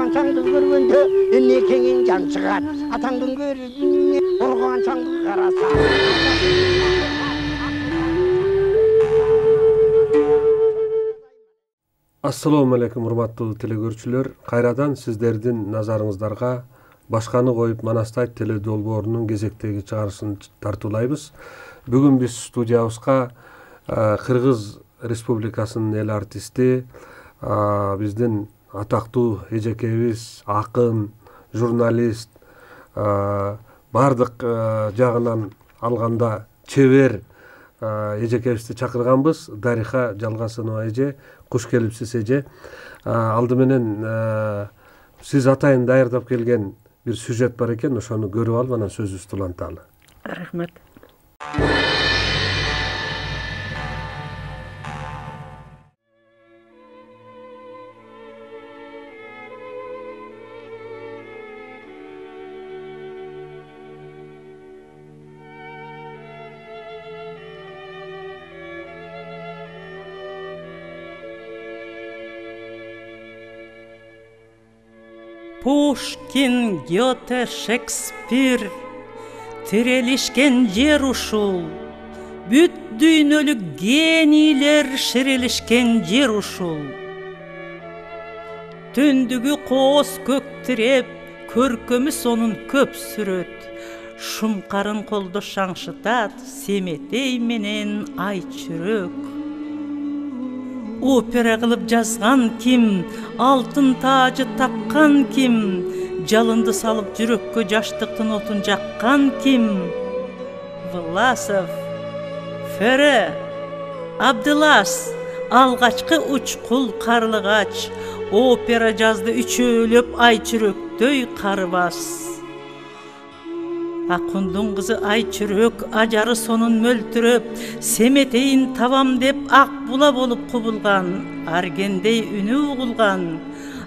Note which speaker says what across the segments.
Speaker 1: Урганчаңды көргөндө энекеңин жан чыгат. Атаңдын көрүнү урганчаңды караса.
Speaker 2: Ассаламу алейкум, урматтуу телекөрүүчүлөр. Кайрадан сиздердин назарыңыздарга Башканы коюп Манастай теле долбоорунун кезектеги чыгарышын тартуулайбыз. Бүгүн биз студиябызга Кыргыз Республикасынын эл артисти, биздин атактуу эжекебиз, акын, журналист, бардык жагынан алганда чебер эжекебизди чакырганбыз. Дариха Жалгасынова эже, куш келипсиз эже. Алды менен сиз атайын даярдап келген бир сюжет бар экен, ошону көрүп алып анан сөзүбүздү уланталы.
Speaker 3: Рахмат. Пушкин, Гёте, Шекспир тирелишкен жер ушул. Бүт дүйнөлүк генийлер ширилишкен жер ушул. Түндүгү кооз көк тиреп, көркөмү сонун көп сүрөт. Шумкарын колдо шаңшытат, Семетей менен ай чүрөк. Опера кылып жазган ким, алтын таажы таккан ким, жалынды салып жүрөккө жаштыктын отун жаккан ким? Власов, Фере, Абдылас, алгачкы учкул карлыгач, опера жазды үчөөлөп ай чүрөктөй карыбас. Акундун кызы ай чүрөк, ажары сонун мөлтүрөп, Семетейин табам деп ак була болуп кубулган, аргендей үнү угулган.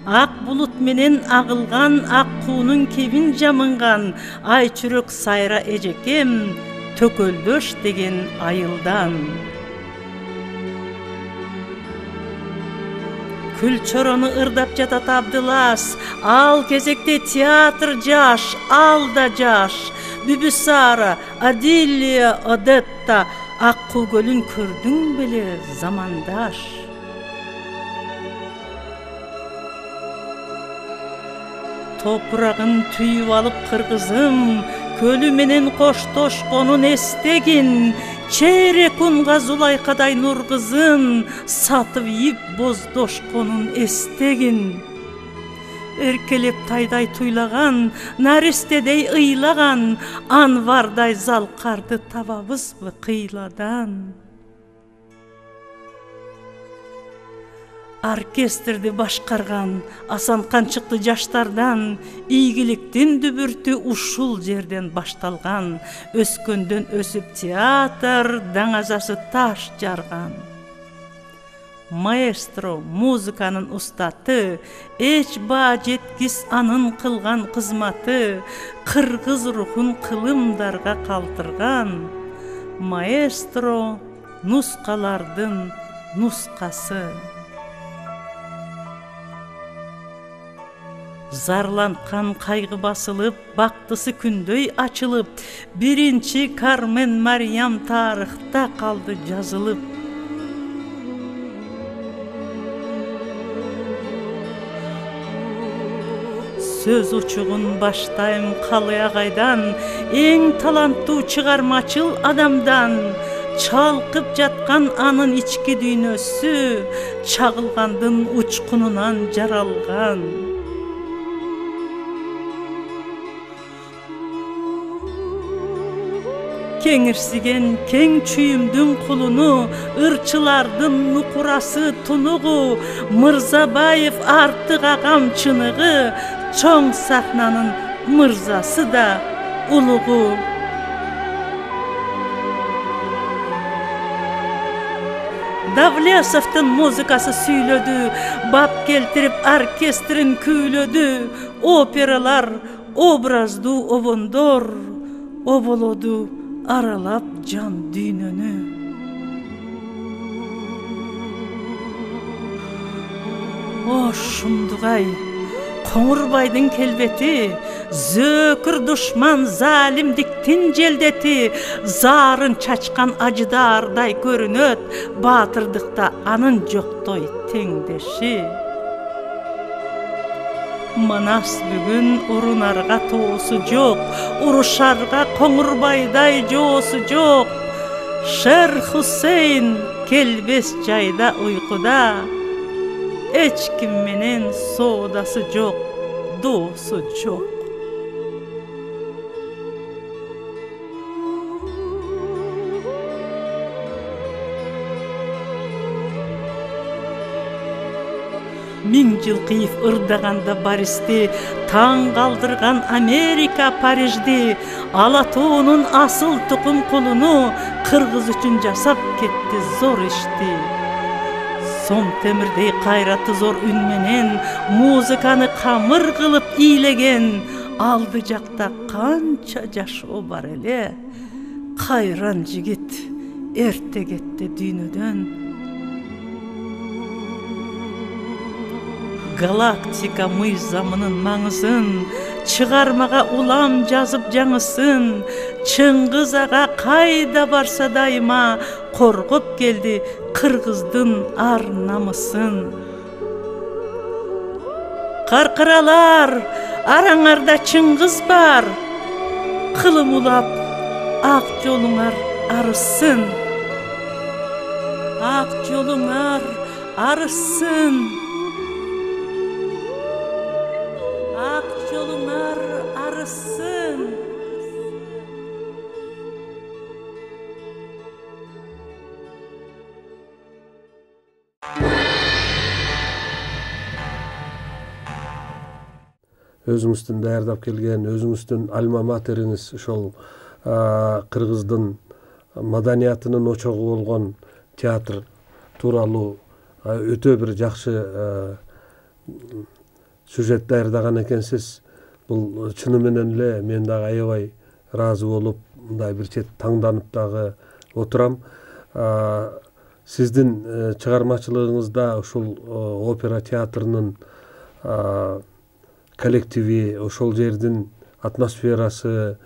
Speaker 3: Ак булут менен агылган, ак куунун кебин жамынган, ай чүрөк сайра эжекем, төкөлдөш деген айылдан. Күлчорону ырдап жатат Абдылас, ал кезекте театр жаш, ал да жаш. Бүбүсара, Адилия, Одетта, Аккуу көлүн көрдүң беле, замандаш. Топурагын түйүп алып кыргызым, көлү менен коштошконун эстегин, чейрек унга Зулайкадай нур кызын, сатып ийип боздошконун эстегин. Эркелеп тайдай туйлаган, наристедей ыйлаган, Анвардай залкарды табабызбы кыйладан? Оркестрди башкарган Асан Канчыкты жаштардан, ийгиликтин дүбүртү ушул жерден башталган. Өскөндөн өсүп театр, даңазасы таш жарган. Маэстро, музыканын устаты, эч баа жеткис анын кылган кызматы, кыргыз рухун кылымдарга калтырган. Маэстро, нускалардын нускасы. Зарланкан кайгы басылып, бактысы күндөй ачылып, биринчи Кармен Мариям тарыхта калды жазылып. Сөз учугун баштайм Калый агайдан, эң таланттуу чыгармачыл адамдан. Чалкып жаткан анын ички дүйнөсү, чагылгандын учкунунан жаралган. Кеңирсиген кең чүйүмдүн кулуну, ырчылардын нукурасы тунугу, Мырзабаев артык агам чыныгы, чоң сахнанын мырзасы да улугу. Давлесовдун музыкасы сүйлөдү, бап келтирип оркестрин күүлөдү. Опералар, образдуу обондор, оболоду аралап жан дүйнөнү. О шумдугай, Коңурбайдын келбети, зөөкүр душман залимдиктин желдети, зарын чачкан ажыдардай көрүнөт, баатырдыкта анын жоктой теңдеши. Манас бүгүн урунарга тоосу жок, урушарга Коңурбайдай жоосу жок. Шер Хусейн келбес жайда уйкуда, эч ким менен соодасы жок, доосу жок. Миң жыл кыйып ырдаганда Бористи, таң калдырган Америка Парижди, Ала тоонун асыл тукум кулуну кыргыз үчүн жасап кетти зор ишти. Сом темирдей кайраты зор үн менен музыканы камыр кылып ийлеген, алды жакта канча жашоо бар эле. Кайран жигит эрте кетти дүйнөдөн. Галактика мыйзамынын маңызын, чыгармага улам жазып жаңысын, Чыңгыз ага кайда барса дайыма коргоп келди кыргыздын ар намысын. Каркыралар, араңарда Чыңгыз бар, кылым улап ак жолуңар арысын. Ак жолуңар арысын. Ак жолуңар арысын.
Speaker 2: Өзүңүздүн даярдап келген, өзүңүздүн альма материңиз ошол кыргыздын маданиятынын очогу болгон театр тууралуу өтө бир жакшы сюжет даярдаган экенсиз. Бул чыны менен эле мен дагы аябай ыраазы болуп, мындай бир чет таңданып дагы отурам. Сиздин чыгармачылыгыңызда ушул опера театрынын коллективи, ошол жердин атмосферасы,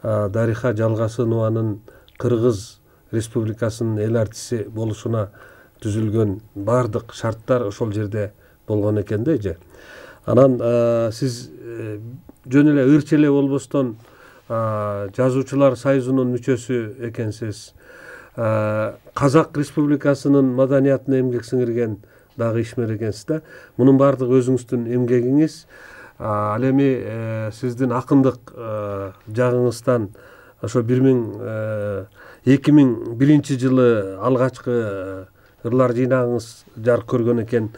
Speaker 2: Дариха Жалгасынованын Кыргыз Республикасынын эл артиси болушуна түзүлгөн бардык шарттар ошол жерде болгон экен да эже. Анан сиз жөн эле ырчы эле болбостон жазуучулар союзунун мүчөсү экенсиз. Казак Республикасынын маданиятына эмгек сиңирген дагы ишмер экенсиз да. Мунун бардыгы өзүңүздүн эмгегиңиз. Ал эми сиздин акындык жагыңыздан ошо 2001 жылы алгачкы ырлар жыйнагыңыз жарык көргөн экен.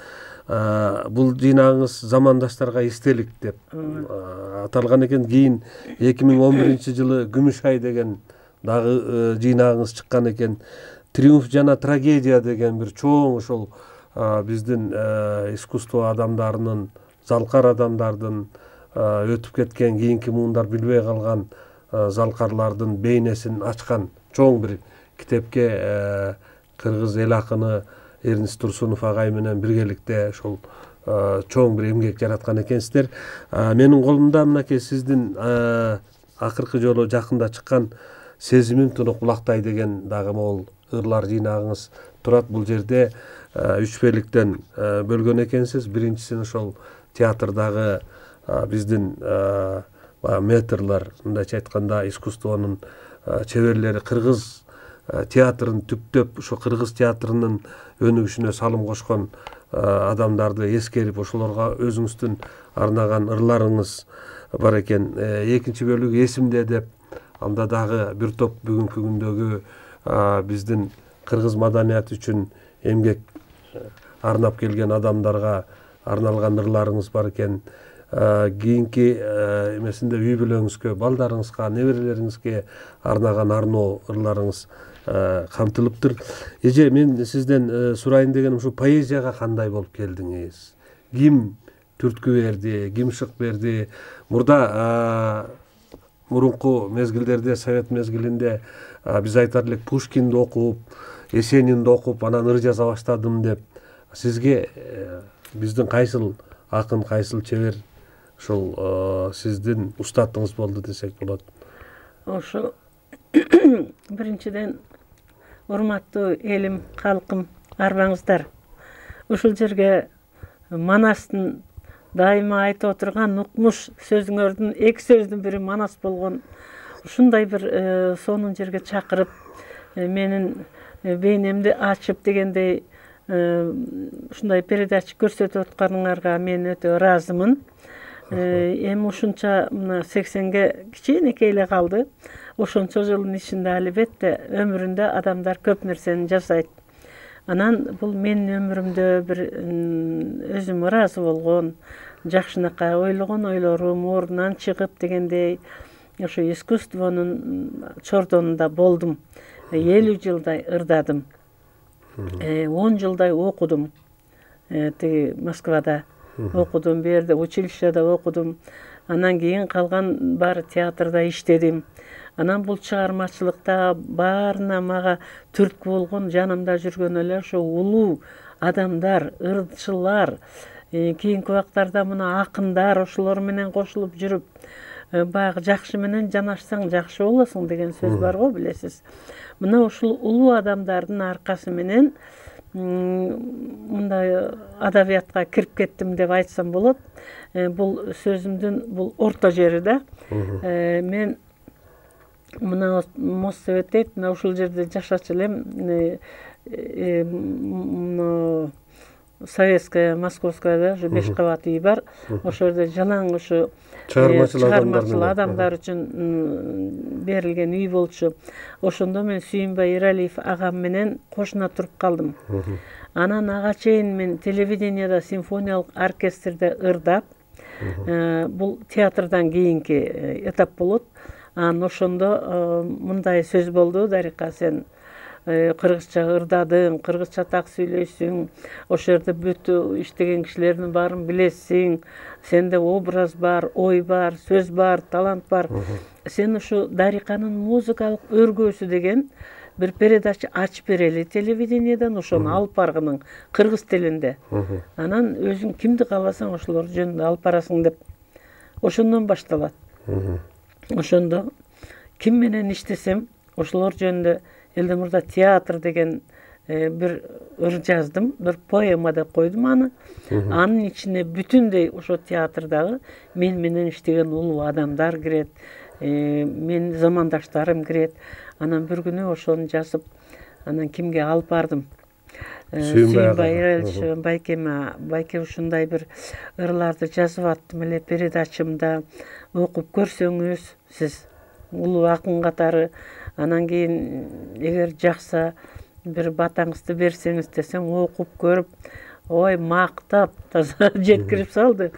Speaker 2: Бул жыйнагыңыз замандаштарга эстелик деп аталган экен. Кийин 2011 жылы Күмүш ай деген дагы жыйнагыңыз чыккан экен. Триумф жана трагедия деген бир чоң ошол биздин искусство адамдарынын, залкар адамдардын өтүп кеткен, кийинки муундар билбей калган залкарлардын бейнесин ачкан чоң бир китепке кыргыз эл акыны Эрнис Турсунов агай менен биргеликте ошол чоң бир эмгек жараткан экенсиздер. Менин колумда мынакей сиздин акыркы жолу жакында чыккан Сезимим туну кулактай деген дагы могул ырлар жыйнагыңыз турат. Бул жерде 3 беликтен бөлгөн экенсиз. Биринчисин ошол театрдагы биздин метрлар, мындайча айтканда искусствонун чеберлери, кыргыз театрын түптөп, ошо кыргыз театрынын өнүгүшүнө салым кошкон адамдарды эскерип, ошолорго өзүңүздүн арнаган ырларыңыз бар экен. Экинчи бөлүгү эсимде деп, анда дагы бир топ бүгүнкү күндөгү биздин кыргыз маданияты үчүн эмгек арнап келген адамдарга арналган ырларыңыз бар экен. Кийинки эмесинде үй бүлөңүзгө, балдарыңызга, неберелериңизге арнаган арноо ырларыңыз камтылыптыр. Эже, мен сизден сурайын дегеним ушу поэзияга кандай болуп келдиңиз? Ким түрткү берди, ким шык берди? Мурда мурунку мезгилдерде, совет мезгилинде биз айтар элек Пушкинди окуп, Есенинди окуп, анан ыр жаза баштадым деп. Сизге биздин кайсыл акын, кайсыл чебер ушул сиздин устатыңыз болду десек болот.
Speaker 3: Ошо биринчиден урматтуу элим, калкым, арбаңыздар. Ушул жерге Манастын дайыма айтып отурган укмуш сөзүңөрдүн эки сөздүн бири Манас болгон. Ушундай бир сонун жерге чакырып, менин бейнемди ачып дегендей ушундай передача көрсөтүп атканыңарга мен өтө ыраазымын. Эми ушунча мына 80ге кичинекей эле калды. Ошончо жылдын ичинде албетте өмүрүндө адамдар көп нерсени жасайт. Анан бул менин өмүрүмдө бир өзүм ыраазы болгон, жакшынакай ойлогон ойлорум ордунан чыгып дегендей ошо искусствонун чордонунда болдум. 50 жылдай ырдадым. 10 жылдай окудум. Тиги Москвада окудум, бу жерде училищеде окудум. Анан кийин калган баары театрда иштедим. Анан бул чыгармачылыкта баарына мага түрткү болгон, жанымда жүргөн эле ошо улуу адамдар, ырчылар, кийинки убактарда мына акындар, ошолор менен кошулуп жүрүп, баягы жакшы менен жанашсаң жакшы болосуң деген сөз бар го, билесиз. Мына ушул улуу адамдардын аркасы менен мындай адабиятка кирип кеттим деп айтсам болот. Бул сөзүмдүн бул орто жери да. Мен мына Моссовет дейт, мына ушул жерде жашачу элем. Советская, Московская, ошо 5 кабат үй бар. Ошол жерде жалаң ушу чыгармачыл адамдар үчүн берилген үй болчу. Ошондо мен Сүйүнбай Иралиев агам менен кошуна туруп калдым. Анан ага чейин мен телевидениеда, симфониялык оркестрде ырдап, бул театрдан кийинки этап болот. Анан ошондо мындай сөз болду: Дарика, сен кыргызча ырдадың, кыргызча так сүйлөйсүң, ошол жерде бүт иштеген кишилердин баарын билесиң, сенде образ бар, ой бар, сөз бар, талант бар. Сен ушу Дариканын музыкалык өргөөсү деген бир передача ачып берели телевидениеден, ошону алып баргының кыргыз тилинде. Анан өзүң кимди кааласаң ошолор жөнүндө алып барасың деп. Ошондон башталат. Ошондо ким менен иштесем, ошолор жөнүндө элден мурда театр деген бир ыр жаздым, бир поэма деп койдум аны. Анын ичине бүтүндөй ошо театрдагы мен менен иштеген улуу адамдар кирет, менин замандаштарым кирет. Анан бир күнү ошону жазып, анан кимге алып бардым? Сүйүнбай Иралиевич байкеме, байке ушундай бир ырларды жазып аттым эле передачамда, окуп көрсөңүз сиз улуу акын катары. Анан кийин эгер жакса бир батаңызды берсеңиз десең, окуп көрүп, ой мактап таза жеткирип салды.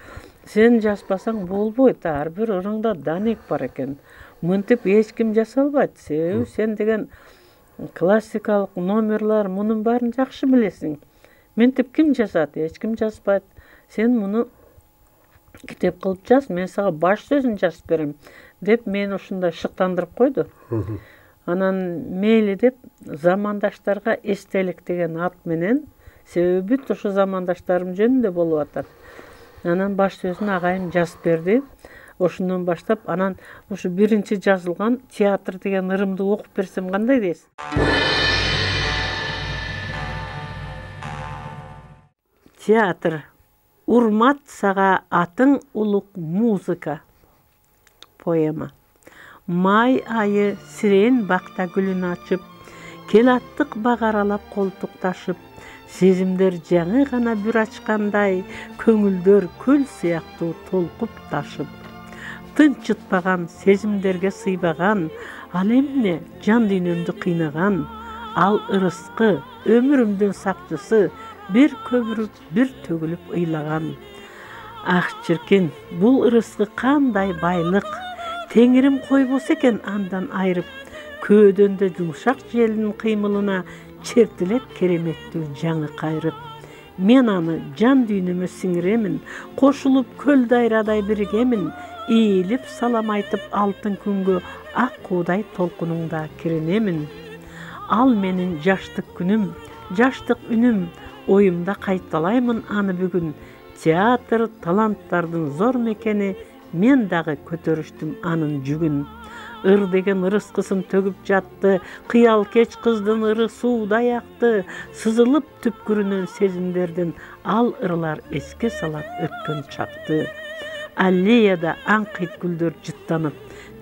Speaker 3: Сен жазбасаң болбойт, ар бир ырыңда данек бар экен. Мынтип эч ким жасалбайт. Себеби сен деген классикалык номерлар, мунун баарын жакшы билесиң. Мынтип ким жазат? Эч ким жазбайт. Сен муну китеп кылып жаз, мен сага баш сөзүн жазып берем деп мен ушундай шыктандырып койду. Анан мейли деп замандаштарга эстелик деген ат менен, себеби бүт ошо замандаштарым жөнүндө болуп атат. Анан баш сөзүн агайым жазып берди. Ошондон баштап анан ушу биринчи жазылган театр деген ырымды окуп берсем кандай дейсиз? Театр. Урмат сага атың улук музыка. Поэма. Май айы сирен бакта гүлүн ачып, кел аттык бак аралап колтукташып, сезимдер жаңы гана бүр ачкандай, көңүлдөр көл сыяктуу толкуп ташып. Тынчытпаган, сезимдерге сыйбаган, ал эмне жан дүйнөмдү кыйнаган, ал ырыскы, өмүрүмдүн сакчысы, бир көбүрүп, бир төгүлүп ыйлаган. Ах чиркин, бул ырыскы кандай байлык, Теңирим койбосо экен андан айрып, көөдөндө жумшак желдин кыймылына чертилет кереметтүү жаңы кайрып. Мен аны жан дүйнөмө сиңиремин, кошулуп көл дайрадай биригемин, ийилип салам айтып алтын күнгө ак куудай толкунуңда киренемин. Ал менин жаштык күнүм, жаштык үнүм, оюмда кайталаймын аны бүгүн. Театр таланттардын зор мекени, мен дагы көтөрүштүм анын жүгүн. Ыр деген ырыскысын төгүп жатты, кыял кеч кыздын ыры суудай акты, сызылып түпкүрүнөн сезимдердин ал ырлар эске салат өткөн чакты. Аллеяда аңкыйт гүлдөр жыттанып,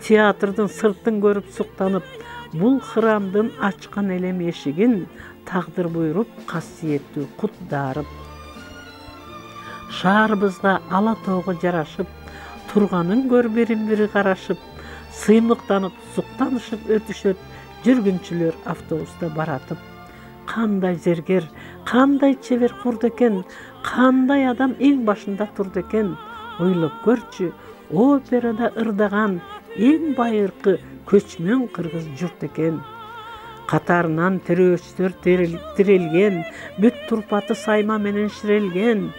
Speaker 3: театрдын сыртын көрүп суктанып, бул хырамдын ачкан элем эшигин тагдыр буйруп касиеттүү кут дарып. Шаарыбызга ала тоого жарашып, турганын көр бирин-бири карашып, сыймыктанып, суктанышып өтүшөт жүргүнчүлөр автобуста баратып. Кандай зергер, кандай чебер курду экен, кандай адам эң башында турду экен. Ойлоп көрчү, операда ырдаган эң байыркы көчмөн кыргыз журт экен. Катарынан тирөөчтөр тирелген, бүт турпаты сайма менен ширелген.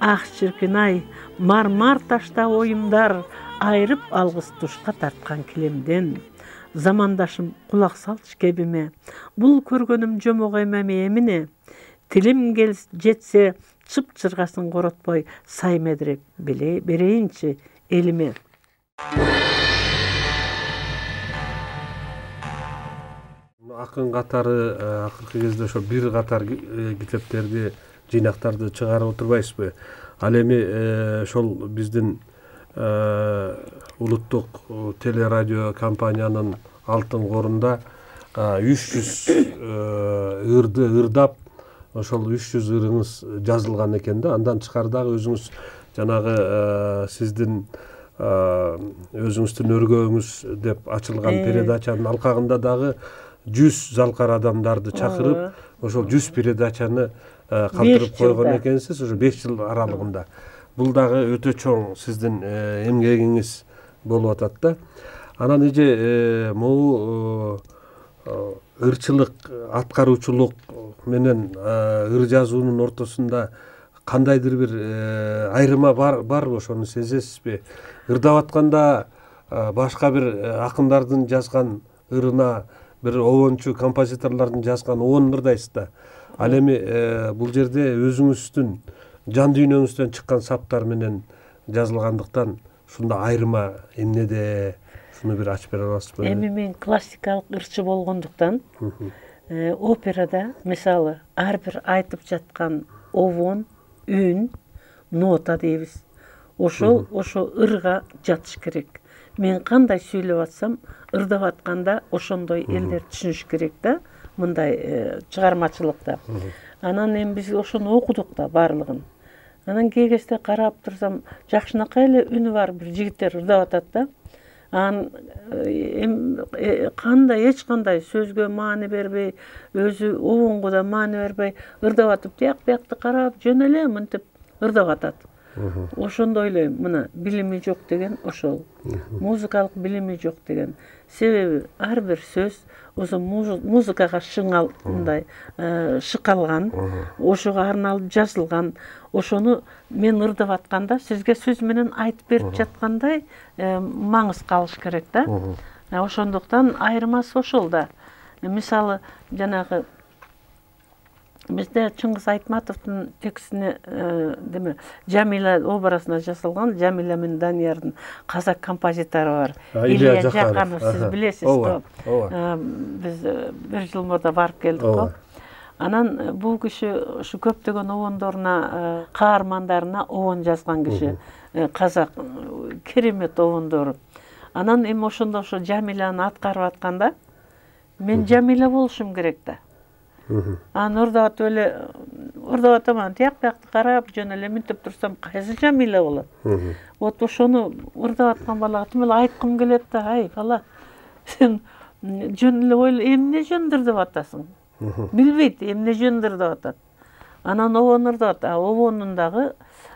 Speaker 3: Ах чиркин-ай, мармар ташта оюмдар, айрып алгыс тушка тарткан килемден. Замандашым кулак салчы кебиме, бул көргөнүм жомок эмне. Тилим жетсе, чып-чыргасын коротпой, сай медиреп берейинчи элиме.
Speaker 2: Акын катары акыркы кезде ошо бир катар китептерди, жыйнактарды чыгарып отурбайсызбы? Ал эми ошол биздин улуттук телерадио компаниянын алтын корунда 300 ырды ырдап, ошол 300 ырыңыз жазылган экен да. Андан тышкары дагы өзүңүз жанагы сиздин өзүңүздүн өргөөңүз деп ачылган передачанын алкагында дагы 100 залкар адамдарды чакырып, ошол 100 передачаны калтырып койгон экенсиз, ошо 5 жыл аралыгында. Бул дагы өтө чоң сиздин эмгегиңиз болуп атат да. Анан эже могу ырчылык, аткаруучулук менен ыр жазуунун ортосунда кандайдыр бир айырма барбы, ошону сезесизби? Ырдап атканда башка бир акындардын жазган ырына, бир обончу композиторлордун жазган обон ырдайсыз да. Ал эми бул жерде өзүңүздүн жан дүйнөңүздөн чыккан саптар менен жазылгандыктан ушунда айырма эмнеде? Шуну бир ачып бере аласызбы?
Speaker 3: Эми мен классикалык ырчы болгондуктан операда мисалы ар бир айтып жаткан обон, үн, нота дейбиз. Ошол ырга жатыш керек. Мен кандай сүйлөп атсам, ырдап атканда ошондой элдер түшүнүш керек да, мындай чыгармачылыкта. Анан эми биз ошону окудук да баардыгын. Анан кээ кезде карап турсам, жакшынакай эле үнү бар бир жигиттер ырдап атат да. Анан эч кандай сөзгө маани бербей, өзү обонго да маани бербей ырдап атып, тияк биякты карап жөн эле мынтип ырдап атат. Ошондо ойлойм, мына билими жок деген ошол. Музыкалык билими жок деген. Себеби ар бир сөз ошо музыкага шыңал мындай шыкалган, ошого арналып жазылган. Ошону мен ырдап атканда сизге сөз менен айтып берип жаткандай маңыз калыш керек да. Ошондуктан айырмасы ошол да. Мисалы, жанагы бизде Чыңгыз Айтматовдун текстине деме Жамила образына жасалган Жамила менен Даниярдын казак композитору бар. Илья Жаканов, сиз билесиз го. Биз бир жыл мурда барып келдик го. Анан бул киши ушу көптөгөн обондоруна, каармандарына обон жазган киши. Казак керемет обондору. Анан эми ошондо ошо Жамиланы аткарып атканда мен Жамила болушум керек да. Анан ырдап атам, тияк биякты карап жөн эле минтип турсам, кайсы Жамила болот? Вот ошону ырдап аткан балага тим эле айткым келет да, ай бала, сен жөн эле эмне жөн ырдап атасың? Билбейт, эмне жөн ырдап атат. Анан обон ырдап атат, обонун дагы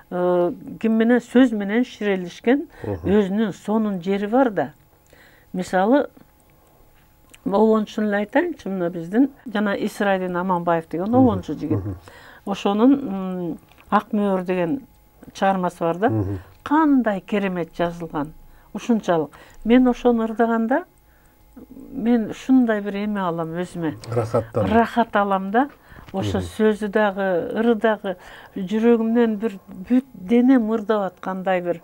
Speaker 3: ким менен сөз менен ширелишкен өзүнүн сонун жери бар да. Мисалы, обончун эле айтайынчы, мына биздин жана Исрайдин Аманбаев деген обончу жигит. Ошонун Ак мөөр деген чыгармасы бар да. Кандай керемет жазылган. Ушунчалык. Мен ошону ырдаганда мен ушундай бир эме алам өзүмө. Рахат алам да. ошо сөзү дагы, ыры дагы жүрөгүмдөн бир бүт денем ырдап аткандай бир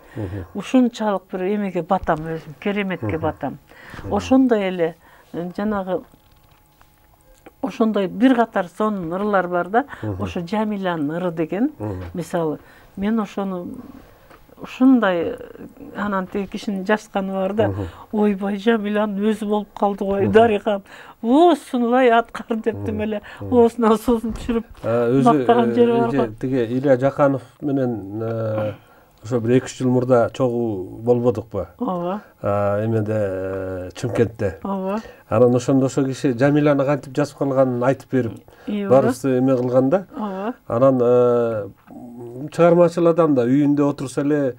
Speaker 3: ушунчалык бир эмеге батам өзүм, кереметке батам. Ошондой эле жанагы ошондой бир катар сонун ырлар бар да. Ошо Жамиланын ыры деген мисалы мен ошону ушундай анан тиги кишинин жазганы бар да. Ойбой, Жамиланын өзү болуп калды го, Дарихам. Сунулай аткар деп тим эле оосуна суусун түшүрүп мактаган жери бар го.
Speaker 2: Тиги Илья Жаканов менен ошо бир 2-3 жыл мурда чогуу болбодукпу?
Speaker 3: Ооба.
Speaker 2: Эмеде Чымкентте.
Speaker 3: Ооба.
Speaker 2: Анан ошондо ошо киши Жамиланы кантип жазып калганын айтып берип, баарыбызды эме кылган да.
Speaker 3: Ооба.
Speaker 2: Анан чыгармачыл адам да үйүндө отурса эле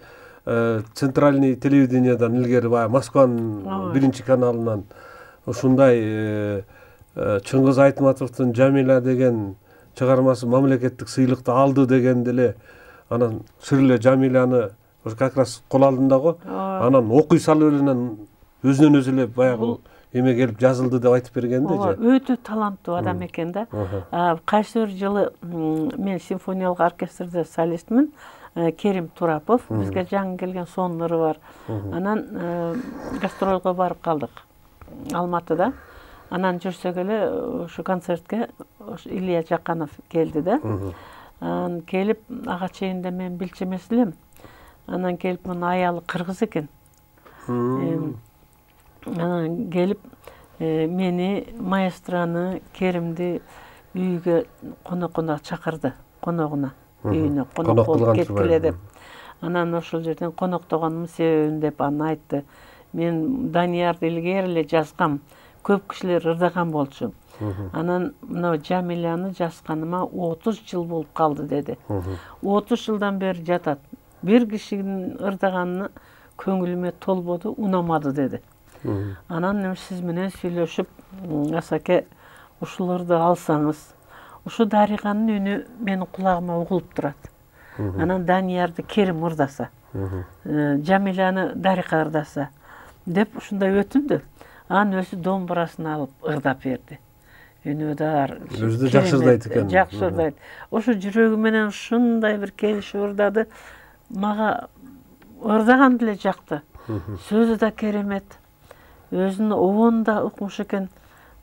Speaker 2: центральный телевидениедан илгери баягы Москванын 1 каналынан ушундай Чыңгыз Айтматовдун Жамила деген чыгармасы мамлекеттик сыйлыкты алды дегенде эле анан сыр эле Жамиланы ошо как раз кол алдында го. Анан окуй салып эленен өзүнөн өзү эле баягы эме келип жазылды деп айтып бергенде же.
Speaker 3: Өтө таланттуу адам экен да. Кайсы бир жылы мен симфониялык оркестрде солистмин. Керим Турапов бизге жаңы келген сонун ыры бар. Анан гастролго барып калдык Алматыда. Анан жүрсөк эле ошо концертке Илья Жаканов келди да. Анан келип ага чейинде мен билчү эмес элем. Анан келип мунун аялы кыргыз экен. Анан келип мени, маэстраны, Керимди үйгө конокуна чакырды, коногуна, үйүнө конок болуп кеткиле деп. Анан ошол жерден коноктогонумдун себебин деп аны айтты. Мен Даниярды илгери эле жазгам, көп кишилер ырдаган болчу. Анан мына Жамиланы жазганыма 30 жыл болуп калды деди. 30 жылдан бери жатат. Бир кишинин ырдаганына көңүлүмө толбоду, унамады деди. Анан сиз менен сүйлөшүп, Асаке, ушуларды алсаңыз, ушу Дариханын үнү менин кулагыма угулуп турат. Анан Даниярды Керим ырдаса, Жамиланы Дариха ырдаса деп ушундай өтүндү. Анан өзү домбурасын алып ырдап берди. Үнүдар.
Speaker 2: Өзү да жакшы ырдайт экен.
Speaker 3: Жакшы ырдайт. Ошо жүрөгү менен ушундай бир келишип ырдады. Мага ырдаган деле жакты. Сөзү да керемет. Өзүнүн обон да укмуш экен.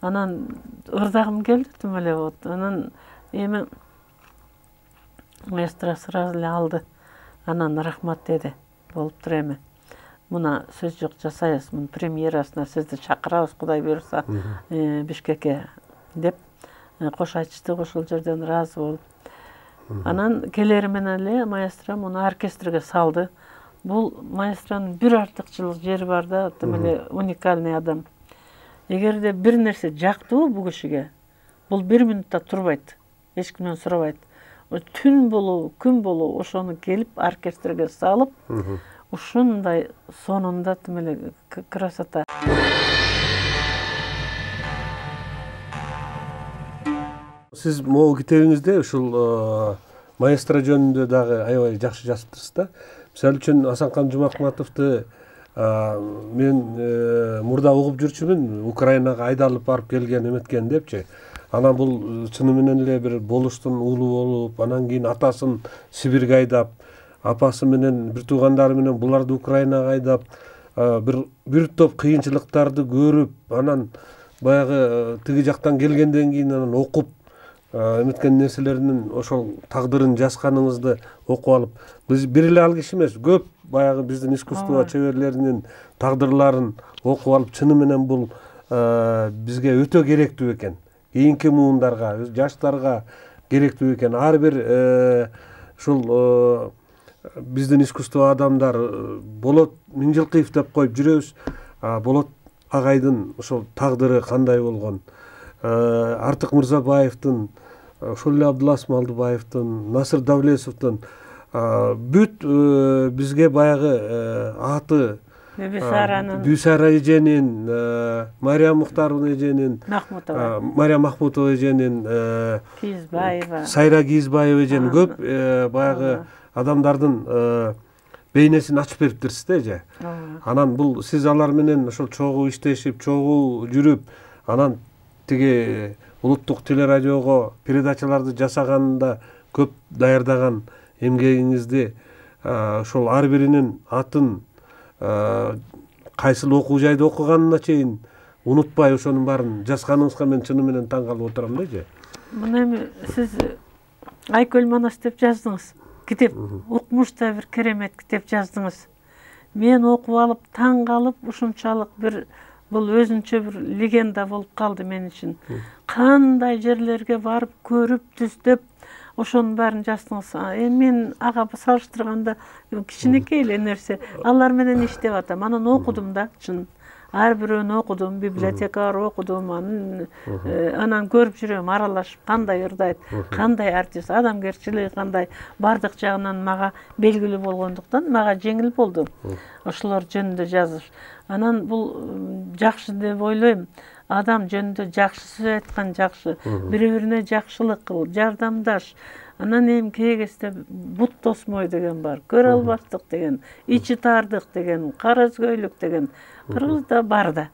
Speaker 3: Анан ырдагым келди тим эле вот. Анан эми маэстро сразу эле алды. Анан рахмат деди. Болуптур эми. Муна сөз жок жасайбыз. Мунун премьерасына сизди чакырабыз, Кудай буйрса, Бишкекке деп кош айтыштык, ошол жерден ыраазы болуп. Анан келери менен эле маэстро муну оркестрге салды. Бул маэстронун бир артыкчылык жери бар да, тим эле уникальный адам. Эгерде бир нерсе жактыбы бул кишиге, бул 1 минутта турбайт, эч кимден сурабайт. Түн болобу, күн болобу ошону келип оркестрге салып, ушундай сонунда тим эле красота.
Speaker 2: Сиз могу китебиңизде ушул маэстро жөнүндө дагы аябай жакшы жазыптырсыз да. Мисалы үчүн Асанкан Жумакматовду мен мурда угуп жүрчүмүн, Украинага айдалып барып келген эметкен депчи. Анан бул чыны менен эле бир болуштун уулу болуп, анан кийин атасын Сибирге айдап, апасы менен бир туугандары менен буларды Украинага айдап, бир топ кыйынчылыктарды көрүп, анан баягы тиги жактан келгенден кийин анан окуп эметкен нерселеринин ошол тагдырын жазганыңызды окуп алып, биз бир эле ал киши эмес, көп баягы биздин искусство чеберлеринин тагдырларын окуп алып, чыны менен бул бизге өтө керектүү экен. Кийинки муундарга, жаштарга керектүү экен. Ар бир ушул биздин искусство адамдар Болот Миңжилкыев деп коюп жүрөбүз. Болот агайдын ошол тагдыры кандай болгон? Артык Мырзабаевдин, ошол эле Абдулас Малдыбаевдин, Насыр Давлесовдун бүт бизге баягы аты Бүйсара эженин, Мария Мухтарова эженин, Мария Махмутова эженин,
Speaker 3: Кийизбаева,
Speaker 2: Сайра Кийизбаева эженин көп баягы адамдардын бейнесин ачып бериптирсиз да же. Анан бул сиз алар менен ошол чогуу иштешип, чогуу жүрүп, анан тиги улуттук телерадиого передачаларды жасаганында көп даярдаган эмгегиңизди ошол ар биринин атын кайсыл окуу жайда окуганына чейин унутпай ошонун баарын жазганыңызга мен чыны менен таң калып отурам да.
Speaker 4: Мына эми сиз Айкөл Манас деп жаздыңыз. Китеп укмуш да бир керемет китеп жаздыңыз. Мен окуп алып таң калып, ушунчалык бир бул өзүнчө бир легенда болуп калды мен үчүн. Кандай жерлерге барып көрүп, түздөп ошонун баарын жаздыңыз. Мен ага салыштырганда кичинекей эле нерсе. Алар менен иштеп атам. Анан окудум да, чын. Ар бирөөнү окудум, библиотекалар окудум, анан көрүп жүрөм, аралашып, кандай ырдайт, кандай артист, адамгерчилиги кандай, бардык жагынан мага белгилүү болгондуктан мага жеңил болду ошолор жөнүндө жазыш. Анан бул жакшы деп ойлойм. Адам жөнүндө жакшы сөз айткан жакшы, бири-бирине жакшылык кыл, жардамдаш. Анан эми кегесте бут тосмой деген бар, көрө албастык деген, ичи таардык деген, кара өзгөйлүк деген кыргызда бар да.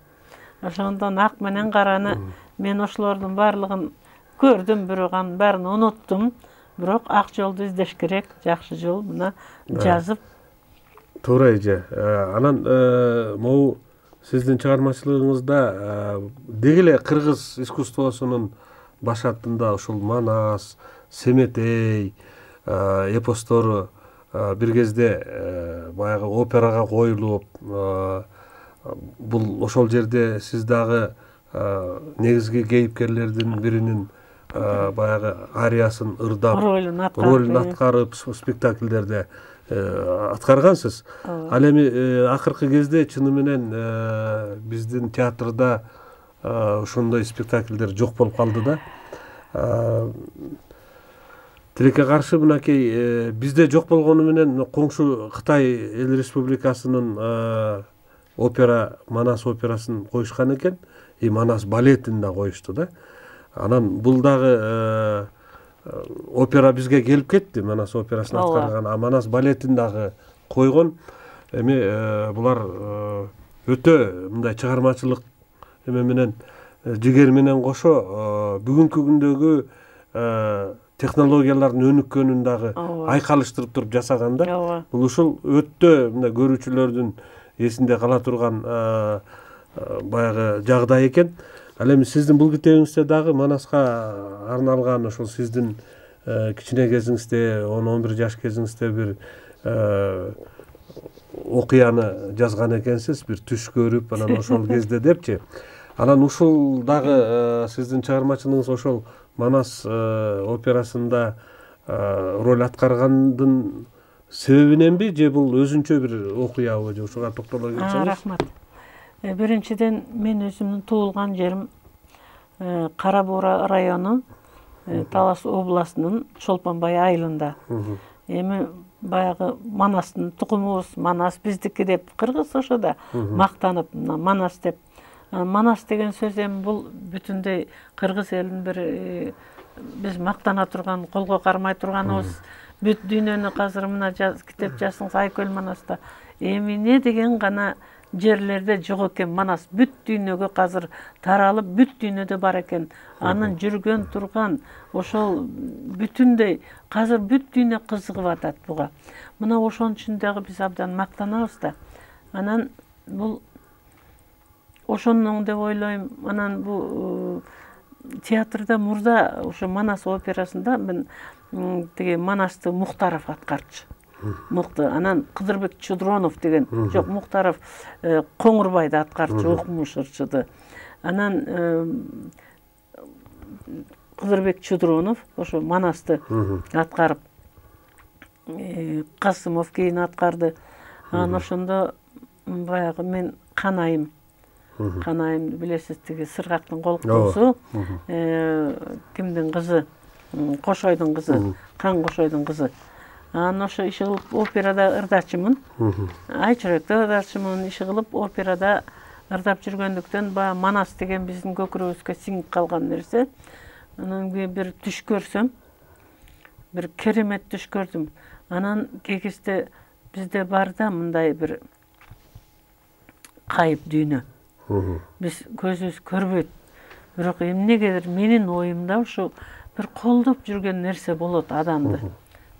Speaker 4: Ошондон ак менен караны мен ошолордун баардыгын көрдүм, бирок анын баарын унуттум. Бирок ак жолду издеш керек, жакшы жол мына жазып.
Speaker 2: Туура эже. Анан могу сиздин чыгармачылыгыңызда деги эле кыргыз искусствосунун башатында ушул Манас, Семетей эпостору бир кезде баягы операга коюлуп, бул ошол жерде сиз дагы негизги кейипкерлердин биринин баягы ариясын ырдап, ролун аткарып спектакльдерде аткаргансыз. Ал эми акыркы кезде чыны менен биздин театрда ошондой спектакльдер жок болуп калды да. Тилекке каршы мынакей бизде жок болгону менен коңшу Кытай Эл Республикасынын опера, Манас операсын коюшкан экен, Манас балетин да коюшту да. Анан бул дагы опера бизге келип кетти, Манас операсын аткарган, Манас балетин дагы койгон. Эми булар өтө мындай чыгармачылык эме менен жигер менен кошо бүгүнкү күндөгү технологиялардын өнүккөнүн дагы айкалыштырып туруп жасаган да. Бул ушул өтө мындай көрүүчүлөрдүн эсинде кала турган баягы жагдай экен. Ал эми сиздин бул китебиңизде дагы Манаска арналган ошол сиздин кичине кезиңизде, 10-11 жаш кезиңизде бир окуяны жазган экенсиз, бир түш көрүп, анан ошол кезде депчи. Анан ушул дагы сиздин чыгармачылыгыңыз ошол Манас операсында роль аткаргандын себебиненби, же бул өзүнчө бир окуябы, же ушуга токтоло кетсеңиз?
Speaker 4: Рахмат. Биринчиден мен өзүмдүн туулган жерим Кара Буура району, Талас областынын Чолпонбай айылында. Эми баягы Манастын тукумубуз, Манас биздики деп кыргыз ошода мактанып Манас деп. Манас деген сөз эми бул бүтүндөй кыргыз элинин бир биз мактана турган, колго кармай турганыбыз. Бүт дүйнөнү азыр мына китеп жазсаңыз Айкөл Манаста эми эмне деген гана жерлерде жок экен Манас. Бүт дүйнөгө азыр таралып, бүт дүйнөдө бар экен. Анын жүргөн турган ошол бүтүндөй азыр бүт дүйнө кызыгып атат буга. Мына ошонун үчүн дагы биз абдан мактанабыз да. Анан бул ошондон деп ойлойм. Анан бул театрда мурда ошо Манас операсында мен тиги Манасты Мухтаров аткарчу. Анан Кыдырбек Чудронов деген, жок, Мухтаров Коңурбайды аткарчу, окумуш ырчыды. Анан Кыдырбек Чудронов ошо Манасты аткарып, Касымов кийин аткарды. Анан ошондо баягы мен Канайым билесиз, тиги Сыргактын колкуусу, кимдин кызы, Кошойдун кызы, Кан Кошойдун кызы. Анан ошо иши кылып операда ырдачымын. Ай чүрөктө ырдачымын, иши кылып операда ырдап жүргөндүктөн баягы Манас деген биздин көкүрөгүбүзгө сиңип калган нерсе. Анан бир түш көрсөм, бир керемет түш көрдүм. Анан кегисте бизде бар да мындай бир кайып дүйнө. Биз көзүбүз көрбөйт. бирок эмнегедир менин оюмда ушу бир колдоп жүргөн нерсе болот адамды.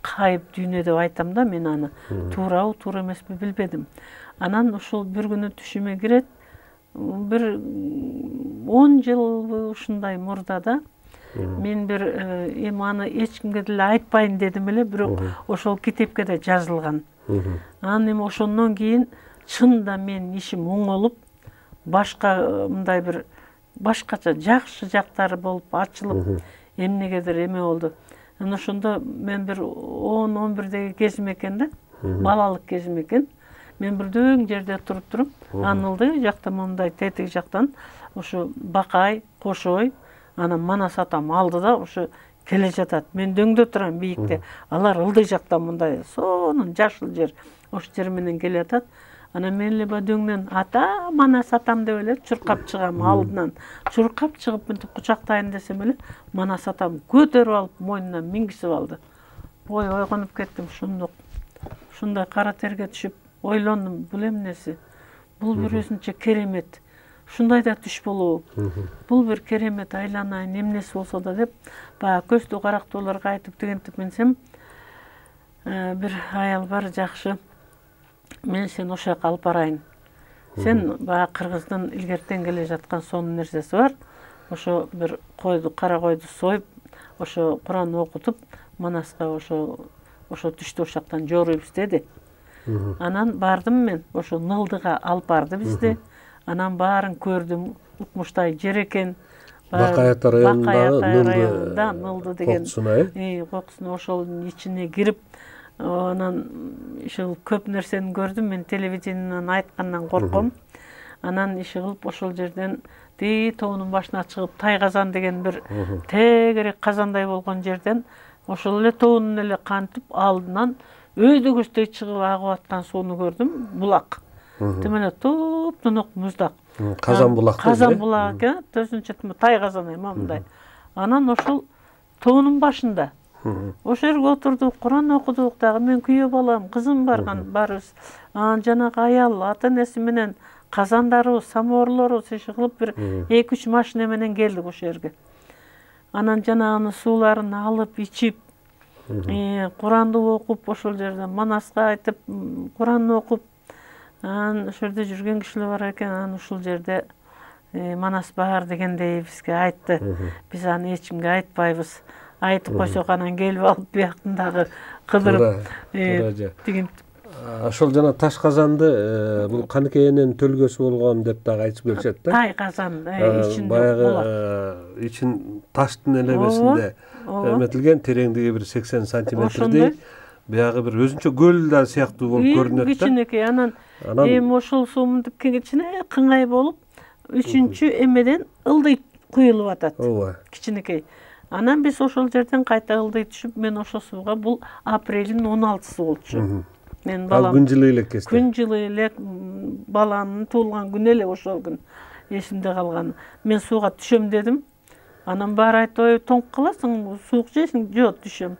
Speaker 4: Кайып дүйнө деп айтам да мен аны. Туурабы, туура эмеспи билбедим. Анан ушул бир күнү түшүмө кирет. Бир 10 жыл ушундай мурдада мен бир эми аны эч кимге деле айтпайын дедим эле, бирок ошол китепке да жазылган. Анан эми ошондон кийин чында менин ишим оңолуп, башка мындай бир башкача жакшы жактары болуп ачылып, эмнегедир эме болду. Анан ошондо мен бир 10-11деги кезим экен да, балалык кезим экен. Мен бир дөң жерде туруп туруп, анылды жактан мондай тетиги жактан ошо Бакай, Кошой, анан Манас атам алды да ошо келе жатат. Мен дөңдө турам бийикте. Алар ылдый жактан мындай сонун жашыл жер. Ошол жер менен келе жатат. Анан мен эле дөңдөн ата, Манас атам деп эле чуркап чыгам алдынан. Чуркап чыгып мынтип кучактайын десем эле, Манас атам көтөрүп алып мойнунан мингизип алды. Ой, ойгонуп кеттим шундук. Ушундай кара терге түшүп ойлондум, бул эмнеси? Бул бир өзүнчө керемет. Ушундай да түш болобу? Бул бир керемет, айланайын эмнеси болсо да деп, баягы көздүү карактууларга айтып дегентип менсем, бир аял бар жакшы. Мен сени ошол жака алып барайын. Сен баягы кыргыздын илгертен келе жаткан сонун нерсеси бар. Ошо бир койду, кара койду союп, ошо Куран окутуп, Манаска ошо түштү ошол жактан жоруйбуз деди. Анан бардым мен, ошо Нылдыга алып барды бизди. Анан баарын көрдүм, укмуштай жер экен.
Speaker 2: Бакай
Speaker 4: районунда Нылды деген кокусуна ошолдун ичине кирип, анан иши көп нерсени көрдүм. Мен телевидениеден айткандан корком. Анан иши кылып ошол жерден тоонун башына чыгып, Тайказан деген бир тегерек казандай болгон жерден ошол эле тоонун эле кантип алдынан өйдөгөстөй чыгып агып аткан сууну көрдүм, булак. Тим эле топ-тонок муздак.
Speaker 2: Казан булак.
Speaker 4: Казан булак экен, өзүнчө Тайказан эми мындай. Анан ошол тоонун башында ошол жерге отурдук, Куран окудук дагы. Мен күйөө балам, кызым барган барыбыз. Анан жанагы аял ата-энеси менен казандарыбыз, самоварлорубуз иши кылып бир 2-3 машина менен келдик ошол жерге. Анан жанагы сууларын алып ичип, Куранды окуп, ошол жерде Манаска айтып, Куранды окуп, анан ошол жерде жүргөн кишилер бар экен. Анан ушул жерде Манас бар дегендей бизге айтты. Биз аны эч кимге айтпайбыз. Айтып койсок анан келип алып биякындагы кыдырып деген.
Speaker 2: Ошол жана Таш казанды бул Каныкенин төлгөсү болгон деп дагы айтып келишет да.
Speaker 4: Тайказан ичинде болот.
Speaker 2: Баягы ичин таштын элемесинде эметилген, тереңдиги бир 80 сантиметрдей. Биягы бир өзүнчө көл да сыяктуу болуп көрүнөт да.
Speaker 4: Кичинекей анан эми ошол суу мынтип кичине кыңай болуп, 3-чү эмеден ылдый куюлуп атат. Ооба. Кичинекей. Анан биз ошол жерден кайта ылдый түшүп, мен ошол сууга бул апрелдин 16-сы болчу. Мен балам
Speaker 2: күн жылы элек кезде.
Speaker 4: Күн жылы элек баланын туулган күнү эле ошол күн эсимде калган. Мен сууга түшөм дедим. Анан баары айтты, тоңуп каласың, суук жейсиң, жок түшөм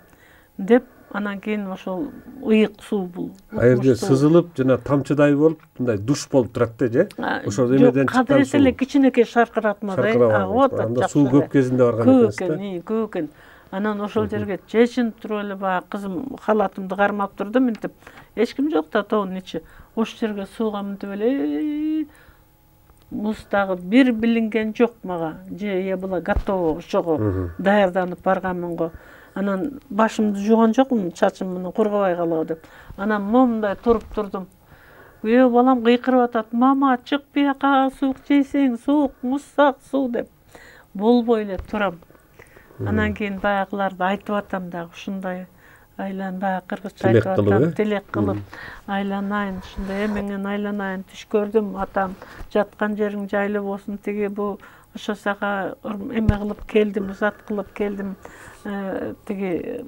Speaker 4: деп. Анан кийин ошол ыйык суу бул.
Speaker 2: Айырда сызылып, жана тамчыдай болуп, мындай душ болуп турат да, же? Ошол эмеден чыккан суу.
Speaker 4: Кадырет эле кичинекей шаркыратмадай агып атат.
Speaker 2: Анда суу көп кезинде барган экенсиз да?
Speaker 4: Көп экен. Анан ошол жерге чечинип туруп эле баягы кызым халатымды кармап турду, мынтип. Эч ким жок да тоонун ичи. Ошол жерге сууга мынтип эле муз дагы бир билинген жок мага. Же я была готова ошого даярданып барганмын го. Анан башымды жууган жокмун, чачым менен кургабай калабы деп. Анан момундай туруп турдум. Күйөө балам кыйкырып атат: "Мама, чык бияка, суук жейсиң, суук, муздак суу" деп. Болбой эле турам. Анан кийин баягыларды айтып атам дагы, ушундай айлан баягы кыргызча айтып атам, тилек кылып айланайын, ушундай эмеңен айланайын, түш көрдүм атам, жаткан жериң жайлуу болсун, тиги бу ошо сага эме кылып келдим, узат кылып келдим, тиги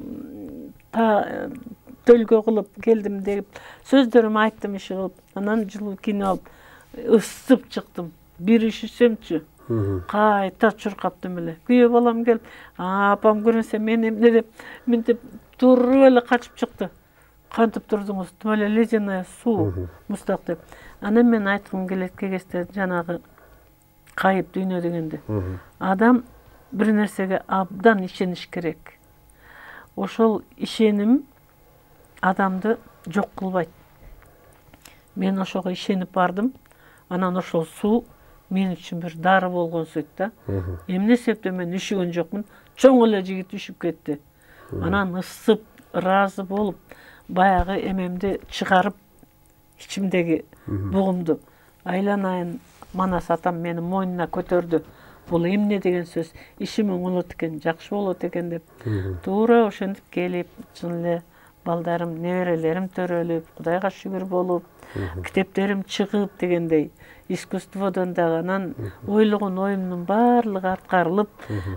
Speaker 4: төлгө кылып келдим деп сөздөрүмү айттым иши кылып. Анан жылуу кино алып ысып чыктым. Бир ишисемчи кайта чуркаптым эле. Күйөө балам келип, апам көрүнсө мен эмне деп мынтип туруп эле качып чыкты. Кантип турдуңуз? Тим эле ледяная суу, муздак деп. Анан мен айткым келет кегесте жанагы кайып дүйнө дегенде. Адам бир нерсеге абдан ишениш керек. Ошол ишеним адамды жок кылбайт. Мен ошого ишенип бардым. Анан ошол суу мен үчүн бир дары болгон сүйт да. Эмне себептен мен үшүгөн жокмун. Чоң эле жигит үшүп кетти. Анан ысып, ыраазы болуп, баягы эмемди чыгарып, ичимдеги бугумду айланайын Манас атам мени мойнуна көтөрдү. Бул эмне деген сөз? Ишим оңолот экен, жакшы болот экен деп. Туура ошентип келип, чын эле балдарым, неберелерим төрөлүп, Кудайга шүгүр болуп, китептерим чыгып дегендей, искусстводон дагы анан ойлогон оюмдун баардыгы аткарылып,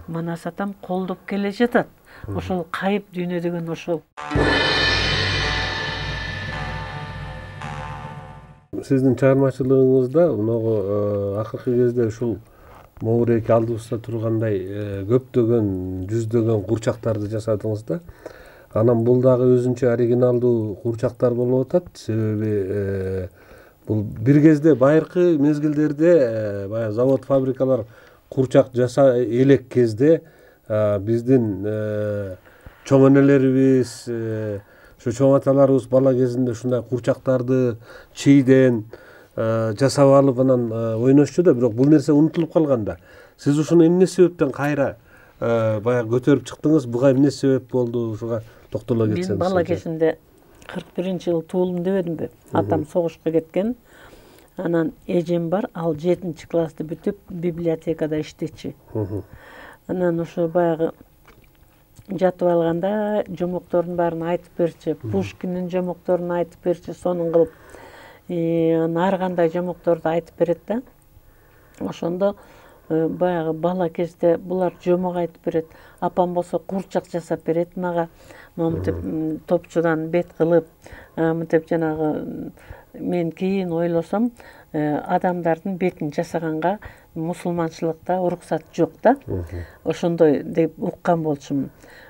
Speaker 4: Манас атам колдоп келе жатат. Ошол кайып дүйнө деген ошол.
Speaker 2: Сиздин чыгармачылыгыңызда мынагу акыркы кезде ушул могуреки алдыбызда тургандай көптөгөн, жүздөгөн курчактарды жасадыңыз да. Анан бул дагы өзүнчө оригиналдуу курчактар болуп атат. Себеби бул бир кезде байыркы мезгилдерде баягы завод, фабрикалар курчак жаса элек кезде биздин чоң энелерибиз, ошо чоң аталарыбыз бала кезинде ушундай курчактарды чийден жасап алып анан ойношчу да, бирок бул нерсе унутулуп калган да. Сиз ушуну эмне себептен кайра баягы көтөрүп чыктыңыз? Буга эмне себеп болду? Ушуга токтоло кетсеңиз.
Speaker 4: Мен бала кезимде 41-жылы туулдум дебедимби? Атам согушка кеткен. Анан эжем бар, ал 7-классты бүтүп библиотекада иштечи. Анан ошо баягы жатып алганда жомоктордун баарын айтып берчи. Пушкиндин жомокторун айтып берчи, сонун кылып. Ар кандай жомокторду айтып берет да. Ошондо баягы бала кезде булар жомок айтып берет. Апам болсо курчак жасап берет мага. Моминтип топчудан бет кылып, мынтип жанагы мен кийин ойлосом, адамдардын бетин жасаганга мусулманчылыкта уруксат жок да. Ошондой деп уккан болчумун.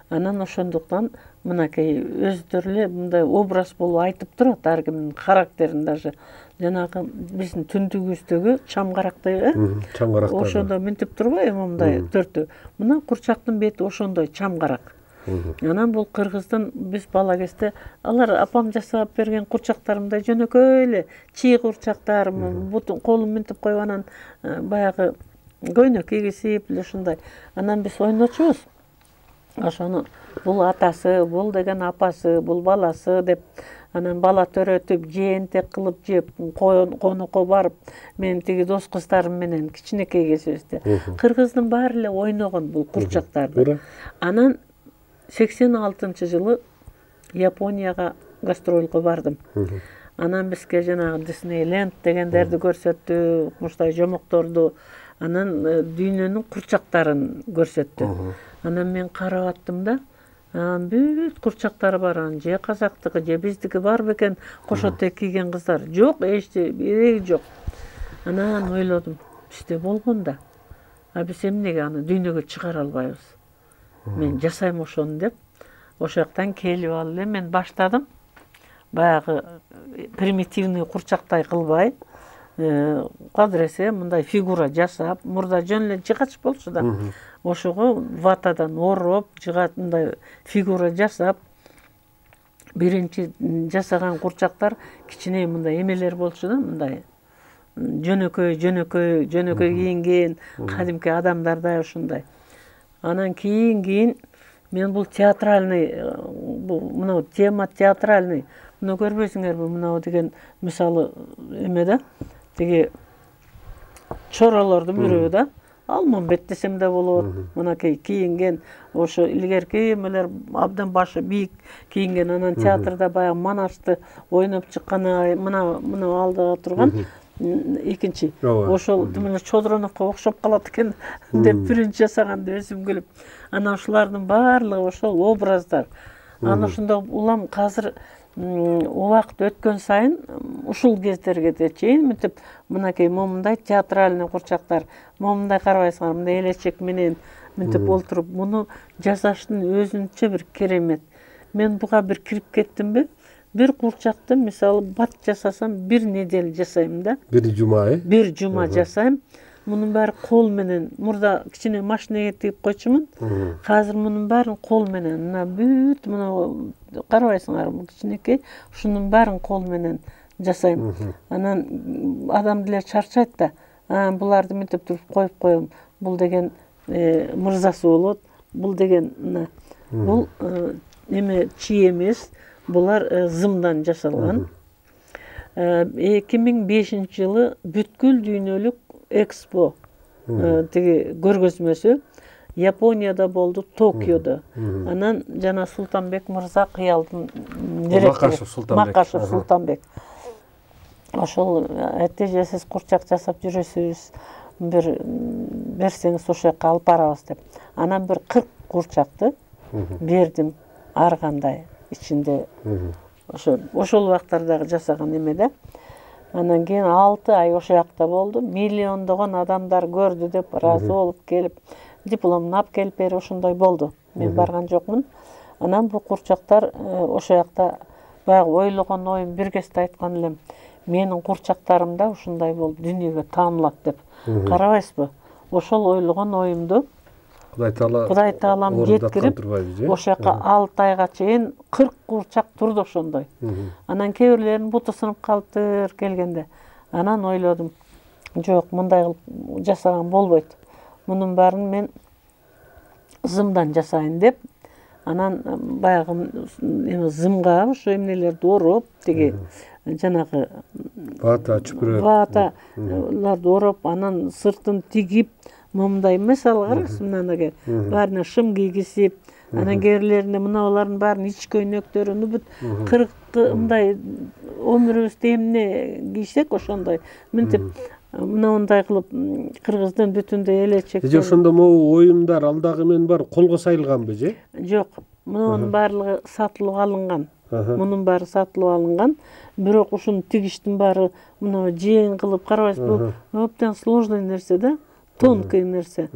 Speaker 4: Анан ошондуктан мынакей өздөрү эле мындай образ болуп айтып турат ар кимдин характерин даже. Жанагы биздин түндүгүбүздөгү чамгарактай,
Speaker 2: Чамгарактар.
Speaker 4: Ошондо мынтип турбайбы мындай төртөө. Мына курчактын бети ошондой чамгарак. Анан бул кыргыздын биз бала кезде алар апам жасап берген курчактарымдай жөнөкөй эле чий курчактар, бутун колун мынтип коюп анан баягы көйнөк кийгизип эле ушундай. Анан биз ойночубуз. Ошону бул атасы, бул деген апасы, бул баласы деп анан бала төрөтүп, жээнтек кылып жеп, конокко барып, мен тиги дос кыздарым менен кичинекей кезибизде кыргыздын баары эле ойногон бул курчактарды. Анан 86-жылы Японияга гастролго бардым. Анан бизге жанагы Диснейленд дегендерди көрсөттү, муштай жомокторду, анан дүйнөнүн курчактарын көрсөттү. Анан мен карап аттым да, бүт курчактары бар, же казактыкы, же биздики бар бекен, кошотек кийген кыздар. Жок, эчти биреги жок. Анан ойлодум, бизде болгон да. Биз эмнеге аны дүйнөгө чыгара албайбыз? Мен жасайм ошону деп, ошол жактан келип алып эле мен баштадым. Баягы примитивный курчактай кылбай, кадыресе мындай фигура жасап, мурда жөн эле жыгач болчу да. Ошого ватадан ороп, жыгат мындай фигура жасап, биринчи жасаган курчактар кичине мындай эмелер болчу да, мындай жөнөкөй кийинген, кадимки адамдардай ушундай. Анан кийин мен бул театральный, мына тема театральный, муну көрбөйсүңөрбү, мына деген мисалы эме да, тиги чоролордун бирөө да, Алмамбет десем да болот, мынакей кийинген, ошо илгерки эмелер абдан башы бийик кийинген, анан театрда баягы Манашты ойноп чыккан, мына алдыга турган экинчи. Ошол мына Чодроновго окшоп калат экен деп биринчи жасаганды өзүм күлүп. Анан ушулардын баардыгы ошол образдар. Анан ошондо улам азыр убакыт өткөн сайын ушул кездерге чейин мынтип мынакей момундай театральный курчактар, момундай карабайсыңар, мындай элечек менен мынтип олтуруп, муну жасаштын өзүнчө бир керемет. Мен буга бир кирип кеттимби? Бир курчакты мисалы бат жасасам, бир неделя жасайм да.
Speaker 2: Бир жума,
Speaker 4: Бир жума жасайм. мунун баары кол менен. Мурда кичине машинеге тигип койчумун. Азыр мунун баарын кол менен. Мына бүт мына карабайсыңарбы, кичинекей. Ушунун баарын кол менен жасайм. Анан адам деле чарчайт да. Буларды мынтип туруп коюп коем. Бул деген мырзасы болот. Бул деген мына бул эме чий эмес. Булар зымдан жасалган. 2005-жылы бүткүл дүйнөлүк экспо тиги көргөзмөсү Японияда болду, Токиодо. Анан жана Султанбек мырза кыялдын директору Макашев Султанбек. Ошол этеже сиз курчак жасап жүрөсүз, бир берсеңиз ошол жака алып барабыз деп. Анан бир 40 курчакты бердим ар кандай ичинде. Ошол убактардагы жасаган эмеде. Анан кийин 6 ай ошол жакта болду. Миллиондогон адамдар көрдү деп ыраазы болуп келип, дипломун алып келип берип ошондой болду. Мен барган жокмун. Анан бул курчактар ошол жакта баягы ойлогон оюм бир кезде айткан элем. Менин курчактарым да ушундай болуп дүйнөгө таанылат деп. Карабайсызбы? Ошол ойлогон оюмду Кудай Таалам жеткирип, ошол жака 6 айга чейин 40 курчак турду ошондой. Анан кээ-бирлеринин буту сынып калыптыр келгенде. Анан ойлодум, жок, мындай кылып жасаган болбойт. Мунун баарын мен зымдан жасайын деп, анан баягы эме зымга ошо эмнелерди ороп, тиги жанагы
Speaker 2: вата, чүпүрө.
Speaker 4: Ваталарды ороп, анан сыртын тигип, момундай эмес алгарсыз, мынанага баарына шым кийгизип, анан кээрлерине мыналардын баарын ич көйнөктөрүнү бүт 40 мындай өмүрүбүздө эмне кийсек ошондой мынтип мындай кылып кыргыздын бүтүндөй элечек.
Speaker 2: Же ошондо могу оюмдар ал дагы мен бар колго сайылганбы же?
Speaker 4: Жок, мунун баардыгы сатылып алынган. Мунун баары сатылып алынган. Бирок ушуну тигиштин баары мына жең кылып карабайсызбы? Абдан сложный нерсе да. Тонкий нерсе.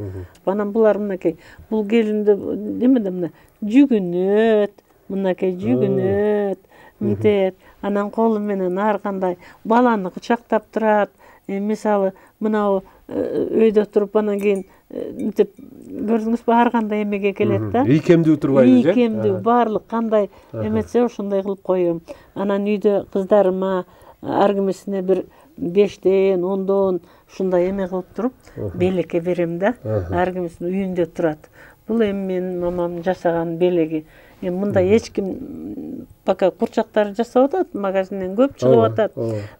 Speaker 4: Анан булар мынакей, бул келинде эмеде мына жүгүнөт, мынакей жүгүнөт, мынтет. Анан колу менен ар кандай баланы кучактап турат. Мисалы, мына өйдө туруп анан кийин мынтип көрдүңүзбү, ар кандай эмеге келет да.
Speaker 2: Ийкемдүү турбайбы же?
Speaker 4: Ийкемдүү, баарлык кандай эметсе ошондой кылып коем. Анан үйдө кыздарыма ар кимисине бир 5ден, 10дон ушундай эме кылып туруп, белекке берем да. Ар кимисинин үйүндө турат. Бул эми менин мамам жасаган белеги. Эми мындай эч ким пока курчактар жасап атат, магазинден көп чыгып атат.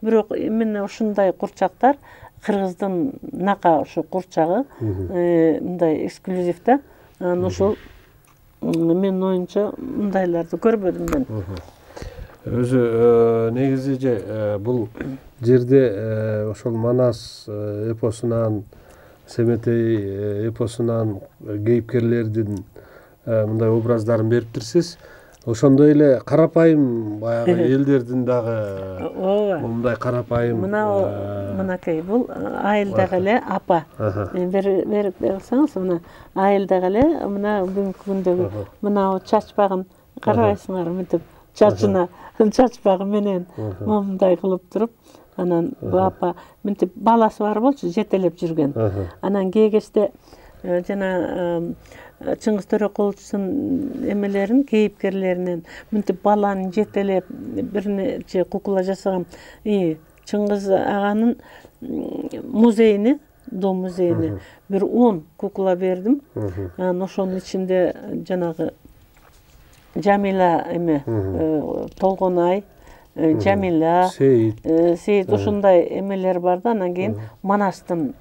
Speaker 4: Бирок эмне ушундай курчактар кыргыздын нака ошо курчагы мындай эксклюзив да. Анан ошол менин оюмча мындайларды көрбөдүм мен.
Speaker 2: Өзү негизи же бул жерде ошол Манас эпосунан, Семетей эпосунан кейипкерлердин мындай образдарын бериптирсиз. Ошондой эле карапайым баягы элдердин дагы мындай карапайым.
Speaker 4: Мынакей бул айылдагы эле апа. Берип берсеңиз, мына айылдагы эле мына бүгүнкү күндөгү мына чачпагын карабайсыңар, мынтип чачына чачпагы менен момундай кылып туруп, анан бул апа мынтип баласы бар болчу, жетелеп жүргөн. Анан кээ кезде жана Чыңгыз Төрөкуловдун эмелерин, кейипкерлеринен мынтип баланы жетелеп бир нече кукла жасаган. Чыңгыз аганын музейине, дом музейине бир 10 кукла бердим. Анан ошонун ичинде жанагы Жамила эме, Толгонай, Жамила, Сейит ушундай эмелер бар да. Анан кийин Манастын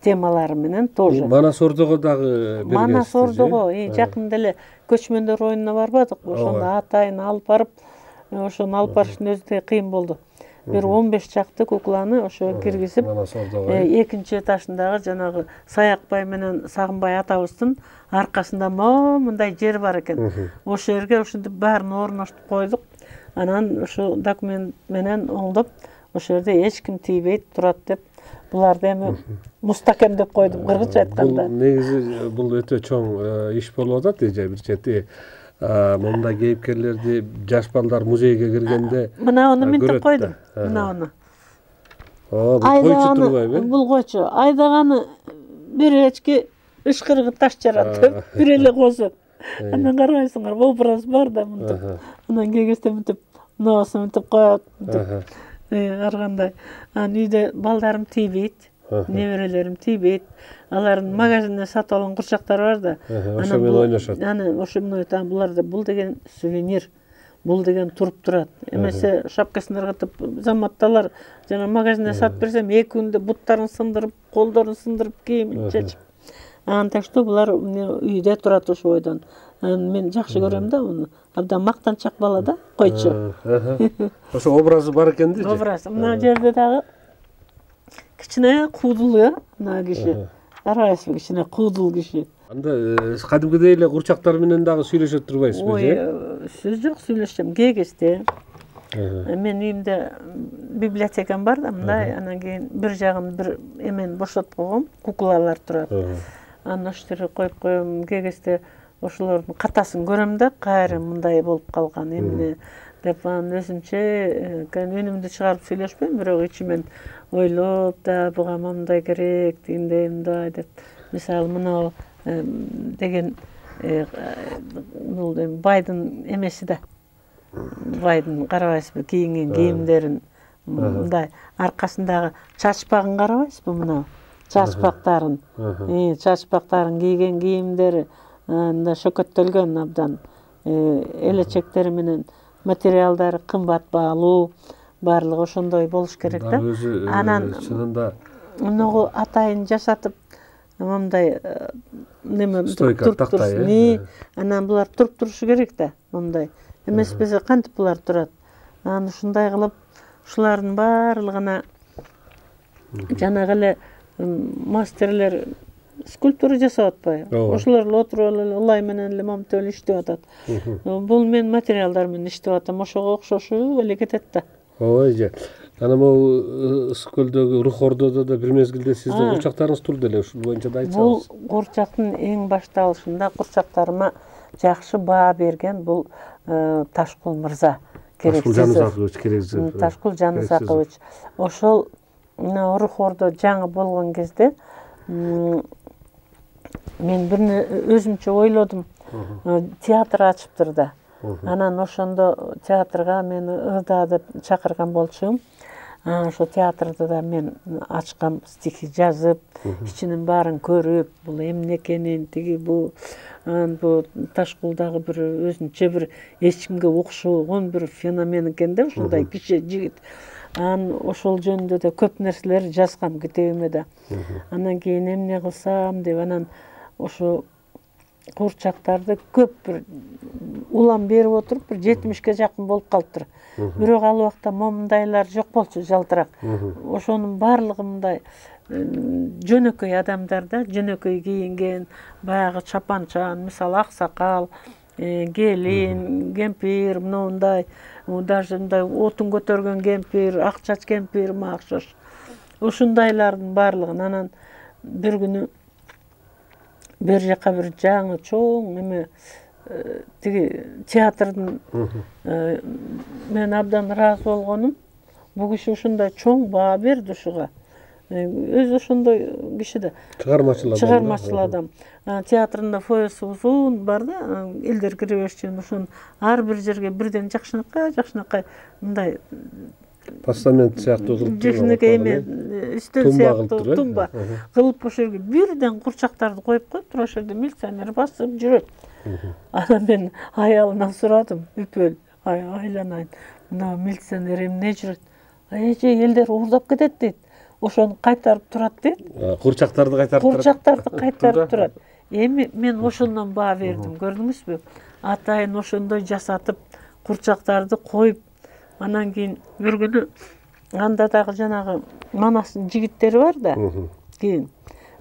Speaker 4: темалары менен тоже.
Speaker 2: Манас Ордого дагы бергенсиз.
Speaker 4: Манас Ордого жакында эле көчмөндөр оюнуна барбадыкпы? Ошондо атайын алып барып, ошону алып барыштын өзү да кыйын болду. Бир 15 чакты кукланы ошо киргизип, экинчи этажындагы жанагы Саякбай менен Сагынбай атабыздын аркасында мындай жер бар экен. Ошол жерге ушинтип баарын орноштуп койдук. Анан ошо документ менен оңдоп, ошол жерде эч ким тийбейт турат деп, буларды эми мустакемдеп койдум, кыргызча айтканда.
Speaker 2: Негизи бул өтө чоң иш болуп атат, бир чети мондай кейипкерлерди жаш балдар музейге киргенде
Speaker 4: мына аны мынтип койдум. Мына аны.
Speaker 2: койчу турбайбы?
Speaker 4: Бул койчу. Айдаганы бир эчки ышкырыгы таш жаратып, бир эле косот. Анан карабайсыңар, образ бар да мынтип. Анан кегесте мынтип, ноосу мынтип коет, мынтип. Ар кандай. Анан үйдө балдарым тийбейт, неберелерим тийбейт. Алардын магазинден сатып алган курчактары бар да.
Speaker 2: Ошо менен ойношот.
Speaker 4: Анан ошо менен айтам, буларда бул деген сувенир. Бул деген туруп турат. Эмесе шапкасын ыргытып, заматталар жана магазинден сатып берсем, 2 күндө буттарын сындырып, колдорун сындырып, кийимин чечип. Так что булар үйдө турат ошо бойдон. Мен жакшы көрөм да уну. Абдан мактанчак бала да, койчу.
Speaker 2: Ошо образы бар экен да.
Speaker 4: Образ. Мына жерде дагы кичине куудул, мына киши. Карабайсызбы, кичине куудул киши.
Speaker 2: Анда кадимкидей эле курчактар менен дагы сүйлөшө турбайсызбы, же?
Speaker 4: Сөз жок, сүйлөшөм. Кегесте. Мен үйүмдө библиотекам бар да, мындай, анан кийин бир жагын бир эмени бошотуп койгом, куклалар турат. Анан оштерге коюп коем, кегесте ошолордун катасын көрөм да, кайра мындай болуп калган эмне деп анан өзүмчө үнүмдү чыгарып сүйлөшпөйм, бирок ичимен ойлоп да, буга мындай керек, тигиндей мындай деп. Мисалы мына деген бул байдын эмеси да. Байдын карабайсызбы, кийинген кийимдерин мындай аркасындагы чачпагын карабайсызбы мына? Чачпактарын. Чачпактарын кийген кийимдери мындай шөкөттөлгөн абдан. Элечектери менен материалдары кымбат баалуу, баардыгы ошондой болуш керек да. Анан чынында муну атайын жасатып мындай неме туруп турат. Анан булар туруп турушу керек да, мындай. Эмеспесе кантип булар турат? Анан ушундай кылып, ушулардын баардыгына жанагы эле мастерлер скульптура жасап атпайбы? Ошолор эле отуруп эле ылай менен эле момунтип эле иштеп атат. Бул мен материалдар менен иштеп атам, ошого окшошуп эле кетет да.
Speaker 2: Ой же. Анан могу Ысык-Көлдөгү Рух Ордодо да бир мезгилде сиздин курчактарыңыз турду эле, ушул боюнча да айтсаңыз.
Speaker 4: Бул курчактын эң башталышында курчактарыма жакшы баа берген бул Ташкул мырза Керексизов. Ташкул Жанызакович. Ошол Рух Ордо жаңы болгон кезде мен бирне өзүмчө ойлодум. Театр ачыптыр да. Анан ошондо театрга мени Ыда деп чакырган болчумун. Ошо театрда да мен ачкам, стихи жазып, ичинин баарын көрүп, бул эмне экенин, тиги бул Ташкулдагы бир өзүнчө бир эч кимге окшогон бир феномен экен да, ушундай киши, жигит. Анан ошол жөнүндө да көп нерселер жазгам китебиме да. Анан кийин эмне кылсам деп анан ошо курчактарды көп бир улам берип отуруп бир 70ке жакын болуп калыптыр. Бирок ал убакта момундайлар жок болчу, жалтырак. Ошонун баардыгы мындай жөнөкөй адамдар да, жөнөкөй кийинген, баягы чапанчан, мисалы аксакал, келин, кемпир, мындай, даже мындай отун көтөргөн кемпир, ак чач кемпир, макшош. Ушундайлардын баардыгын анан бир күнү бер жака бир жаңы чоң эме тиги театрдын мен абдан ыраазы болгонум. Бул киши ушундай чоң баа берди ушуга. Өзү ошондой киши да. Чыгармачыл адам. Театрында фоеси узун бар да, элдер кире беришчү, ошон ар бир жерге бирден жакшынакай мындай
Speaker 2: постамент сыяктуу кылып
Speaker 4: жакшынакай эме үстөл сыяктуу тумба кылып ошол жерге бирден курчактарды коюп коюптур, ошол жерде милиционер басып жүрөт. Анан мен аялынан сурадым, үпөл, айланайын. Мына милиционер эмне жүрөт? Эже элдер уурдап кетет дейт. Ошону кайтарып турат дейт.
Speaker 2: Курчактарды
Speaker 4: кайтарып турат. Эми мен ошондон баа бердим, көрдүңүзбү? Атайын ошондой жасатып, курчактарды коюп, анан кийин бир күнү анда дагы жанагы Манастын жигиттери бар да. Кийин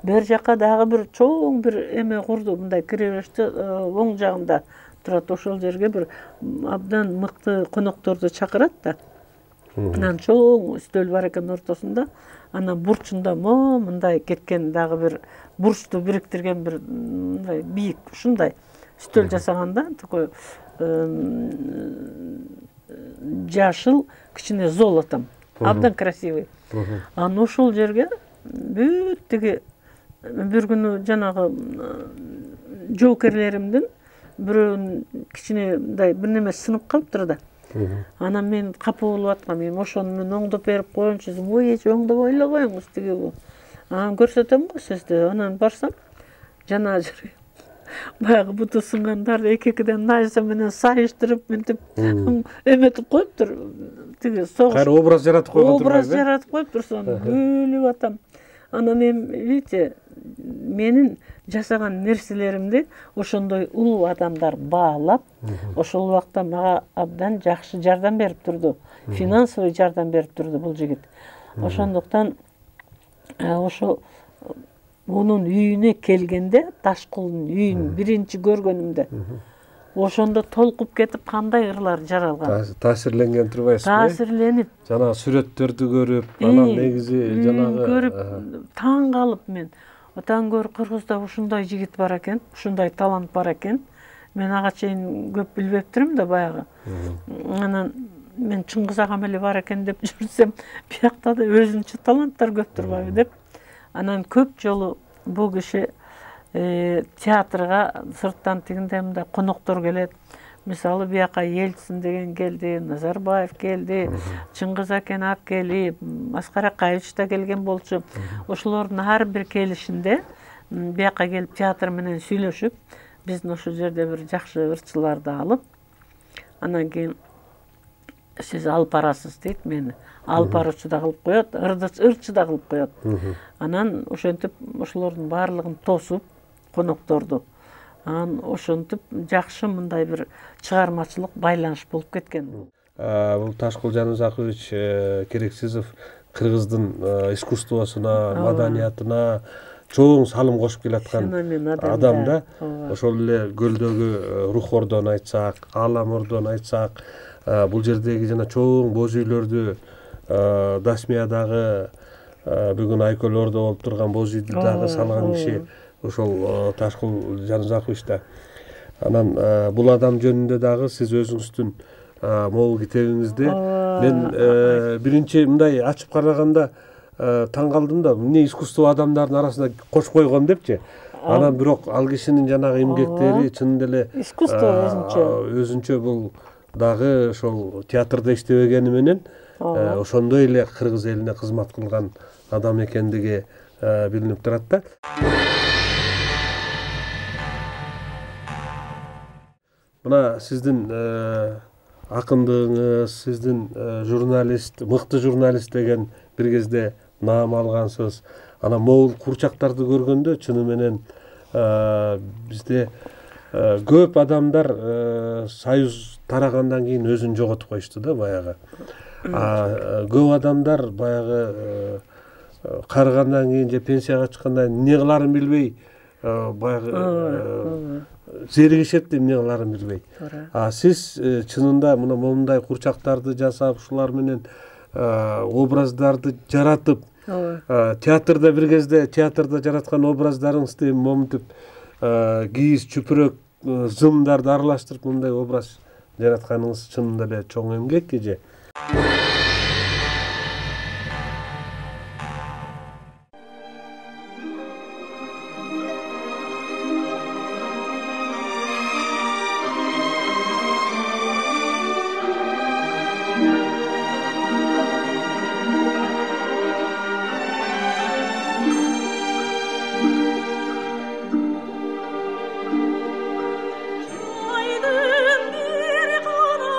Speaker 4: бер жака дагы бир чоң бир эме курду, мындай кире бериште оң жагында турат. Ошол жерге бир абдан мыкты конокторду чакырат да. Анан чоң үстөл бар экен ортосунда. Анан бурчунда мындай кеткен дагы бир бурчту бириктирген бир мындай бийик ушундай үстөл жасаганда, такой жашыл кичине золотом абдан красивый. Анан ошол жерге бүт тиги бир күнү жанагы жоокерлеримдин бирөөнүн кичинедай бир неме сынып калыптыр да. Анан мен капа болуп аткам, эми ошону мен оңдоп берип коеюнчу десем, ой эч оңдобой эле коюңуз тиги бул. Анан көрсөтөм го сизди. Анан барсам жана баягы буту сынгандарды эки-экиден найза менен сайыштырып мынтип эметип коюптур. Тиги согуш.
Speaker 2: Кайра образ жаратып койгон
Speaker 4: Образ жаратып коюптур, сону күлүп атам. Анан эми видите, менин жасаган нерселеримди ошондой улуу адамдар баалап, ошол убакта мага абдан жакшы жардам берип турду. Финансовый жардам берип турду бул жигит. Ошондуктан ошо мунун үйүнө келгенде, Ташкулдун үйүн биринчи көргөнүмдө, ошондо толкуп кетип кандай ырлар жаралган.
Speaker 2: Таасирленген турбайсызбы?
Speaker 4: Таасирленип.
Speaker 2: Жана сүрөттөрдү көрүп, анан негизи жанагы
Speaker 4: көрүп таң калып мен. Отан көр Кыргызда ушундай жигит бар экен, ушундай талант бар экен. Мен ага чейин көп билбептирмин да баягы. Анан мен Чыңгыз агам эле бар экен деп жүрсөм, биякта да өзүнчө таланттар көп турбайбы деп. Анан көп жолу бул киши театрга сырттан тигиндей мындай коноктор келет. Мисалы бияка Ельцин деген келди, Назарбаев келди, Чыңгыз Акен Акели, Аскар Акаевич да келген болчу. Ошолордун ар бир келишинде бияка келип театр менен сүйлөшүп, биздин ошол жерде бир жакшы ырчыларды алып, анан кийин сиз алып барасыз дейт мени. Алып баруучу да кылып коет, ырчы да кылып коет. Анан ошентип ошолордун баардыгын тосуп, конокторду. Анан ошентип жакшы мындай бир чыгармачылык байланыш болуп кеткен.
Speaker 2: Бул Ташкул Жанузакович Керексизов Кыргыздын искусствосуна, маданиятына чоң салым кошуп келаткан адам да. Ошол эле көлдөгү рух ордон айтсак, Алам ордон айтсак, бул жердеги жана чоң боз үйлөрдү, Дасмиядагы бүгүн Айкөл ордо болуп турган боз үйдү дагы салган киши ошол Ташкул Жанузакович да. Анан бул адам жөнүндө дагы сиз өзүңүздүн могул китебиңизде мен биринчи мындай ачып караганда таң калдым да, эмне искусство адамдардын арасына кошуп койгон депчи. Анан бирок ал кишинин жанагы эмгектери чынында эле
Speaker 4: искусство
Speaker 2: өзүнчө бул дагы ошол театрда иштебегени менен ошондой эле кыргыз элине кызмат кылган адам экендиги билинип турат да. Мына сиздин акындыгыңыз, сиздин журналист, мыкты журналист деген бир кезде наам алгансыз. Анан могул курчактарды көргөндө чыны менен бизде көп адамдар союз тарагандан кийин өзүн жоготуп коюшту да баягы. Көп адамдар баягы карыгандан кийин же пенсияга чыккандан кийин эмне кыларын билбей баягы зеригишет, эмне кыларын билбей. Сиз чынында мына момундай курчактарды жасап, ушулар менен образдарды жаратып, театрда бир кезде театрда жараткан образдарыңызды момунтип кийиз, чүпүрөк, зымдарды аралаштырып мындай образ жаратканыңыз чынында эле чоң эмгек эже.
Speaker 3: Aydın bir kana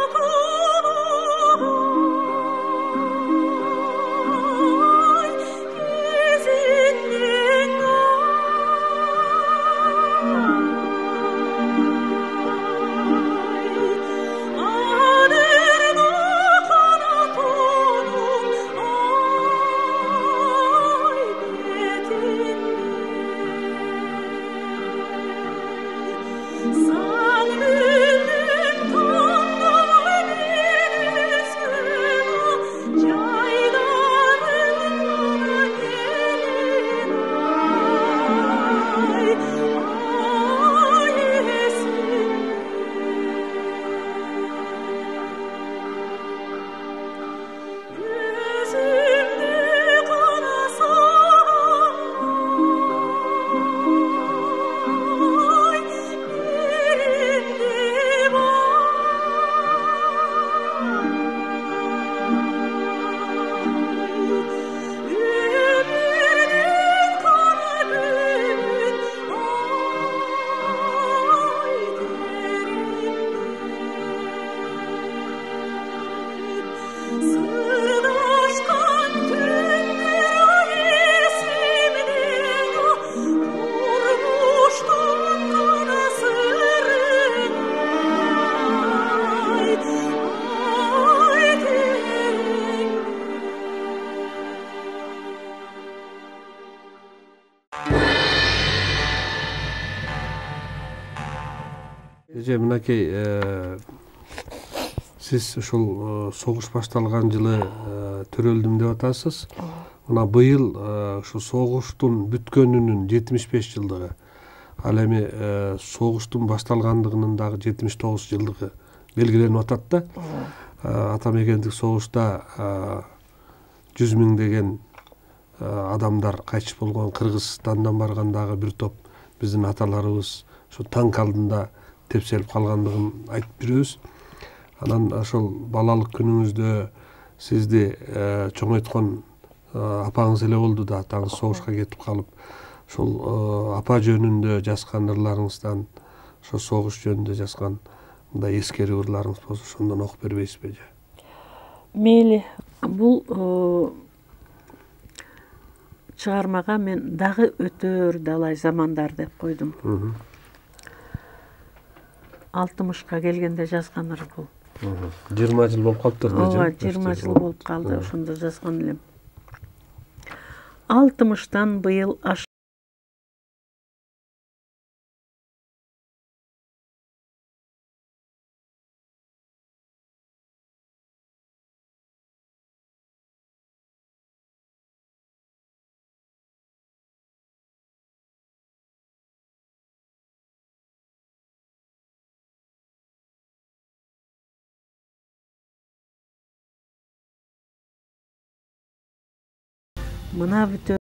Speaker 2: эже мынакей сиз ушул согуш башталган жылы төрөлдүм деп атасыз. Мына быйыл ушу согуштун бүткөнүнүн 75 жылдыгы, ал эми согуштун башталгандыгынын дагы 79 жылдыгы белгиленип атат да. Ата мекендик согушта 100 миңдеген адамдар кайтыш болгон. Кыргызстандан барган дагы бир топ биздин аталарыбыз ушу танк алдында тепселип калгандыгын айтып жүрөбүз. Анан ошол балалык күнүңүздө сизди чоңойткон апаңыз эле болду да, атаңыз согушка кетип калып, ошол апа жөнүндө жазган ырларыңыздан, ошо согуш жөнүндө жазган мындай эскерүү ырларыңыз болсо ошондон окуп бербейсизби эже?
Speaker 4: Мейли, бул чыгармага мен дагы өтөр далай замандар деп койдум. 60ка келгенде жазган ыр бул.
Speaker 2: 20 жыл болуп калыптыр да.
Speaker 4: Ооба, 20 жыл болуп калды, ошондо жазган элем. 60тан быйыл мына бүтө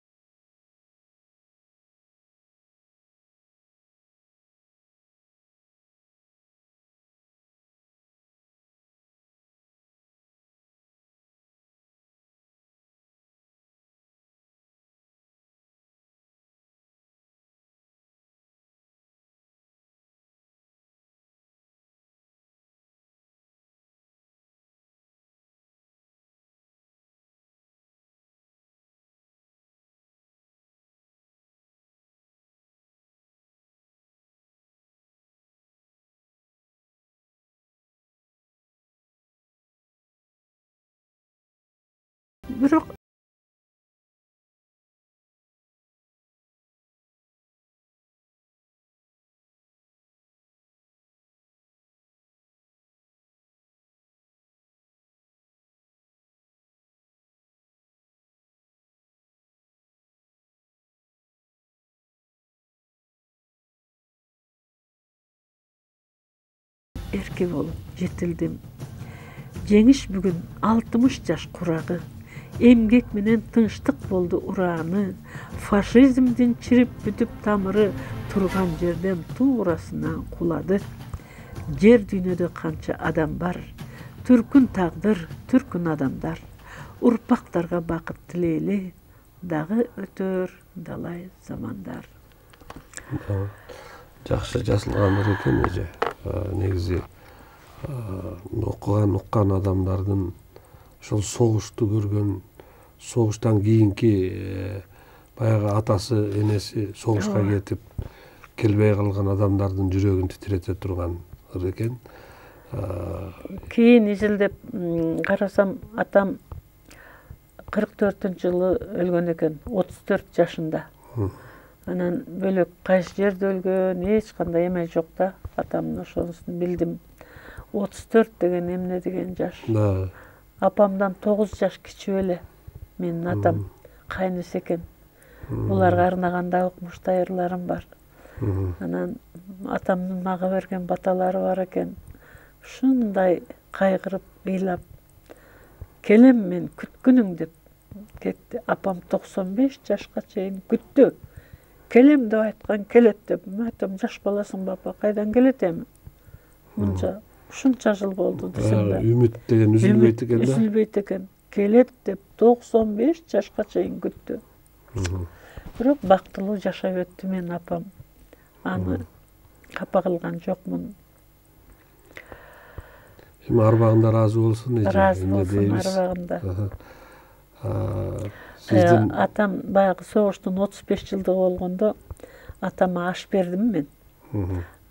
Speaker 4: бирок эрки болуп жетилдим. Жеңиш бүгүн 60 жаш курагы. Эмгек менен тынчтык болду урааны. Фашизмдин чирип бүтүп тамыры турган жерден туурасына кулады. Жер дүйнөдө канча адам бар. Түркүн тагдыр, түркүн адамдар. Урпактарга бакыт тилейли, дагы өтөр далай замандар.
Speaker 2: Жакшы жазылган экен эже. Негизи окуган уккан адамдардын ошол согушту көргөн, согуштан кийинки баягы атасы, энеси согушка кетип келбей калган адамдардын жүрөгүн титирете турган ыр экен.
Speaker 4: Кийин изилдеп карасам, атам 44-жылы өлгөн экен, 34 жашында. Анан бөлөк кайсы жерде өлгөн, эч кандай эме жок да. Атамдын ошонусун билдим. 34 деген эмне деген жаш. Апамдан 9 жаш кичүү эле. Менин атам кайнысы экен. Буларга арнаганда укмуштай ырларым бар. Анан атамдын мага берген баталары бар экен. Ушундай кайгырып, ыйлап, келем мен күткүнүң деп кетти. Апам 95 жашка чейин күттү. Келем деп айткан, келет деп. Мен айтам, жаш баласың бапа, кайдан келет эми? Мынча, ушунча жыл болду десем да.
Speaker 2: Үмүт деген үзүлбөйт экен да.
Speaker 4: Үзүлбөйт экен. Келет деп 95 жашка чейин күттү. Бирок бактылуу жашап өттү менин апам. Аны капа кылган жокмун.
Speaker 2: Эми арбагында ыраазы болсун эже.
Speaker 4: Ыраазы болсун арбагында.
Speaker 2: Сиздин
Speaker 4: атам баягы согуштун 35 жылдыгы болгондо атама аш бердим мен.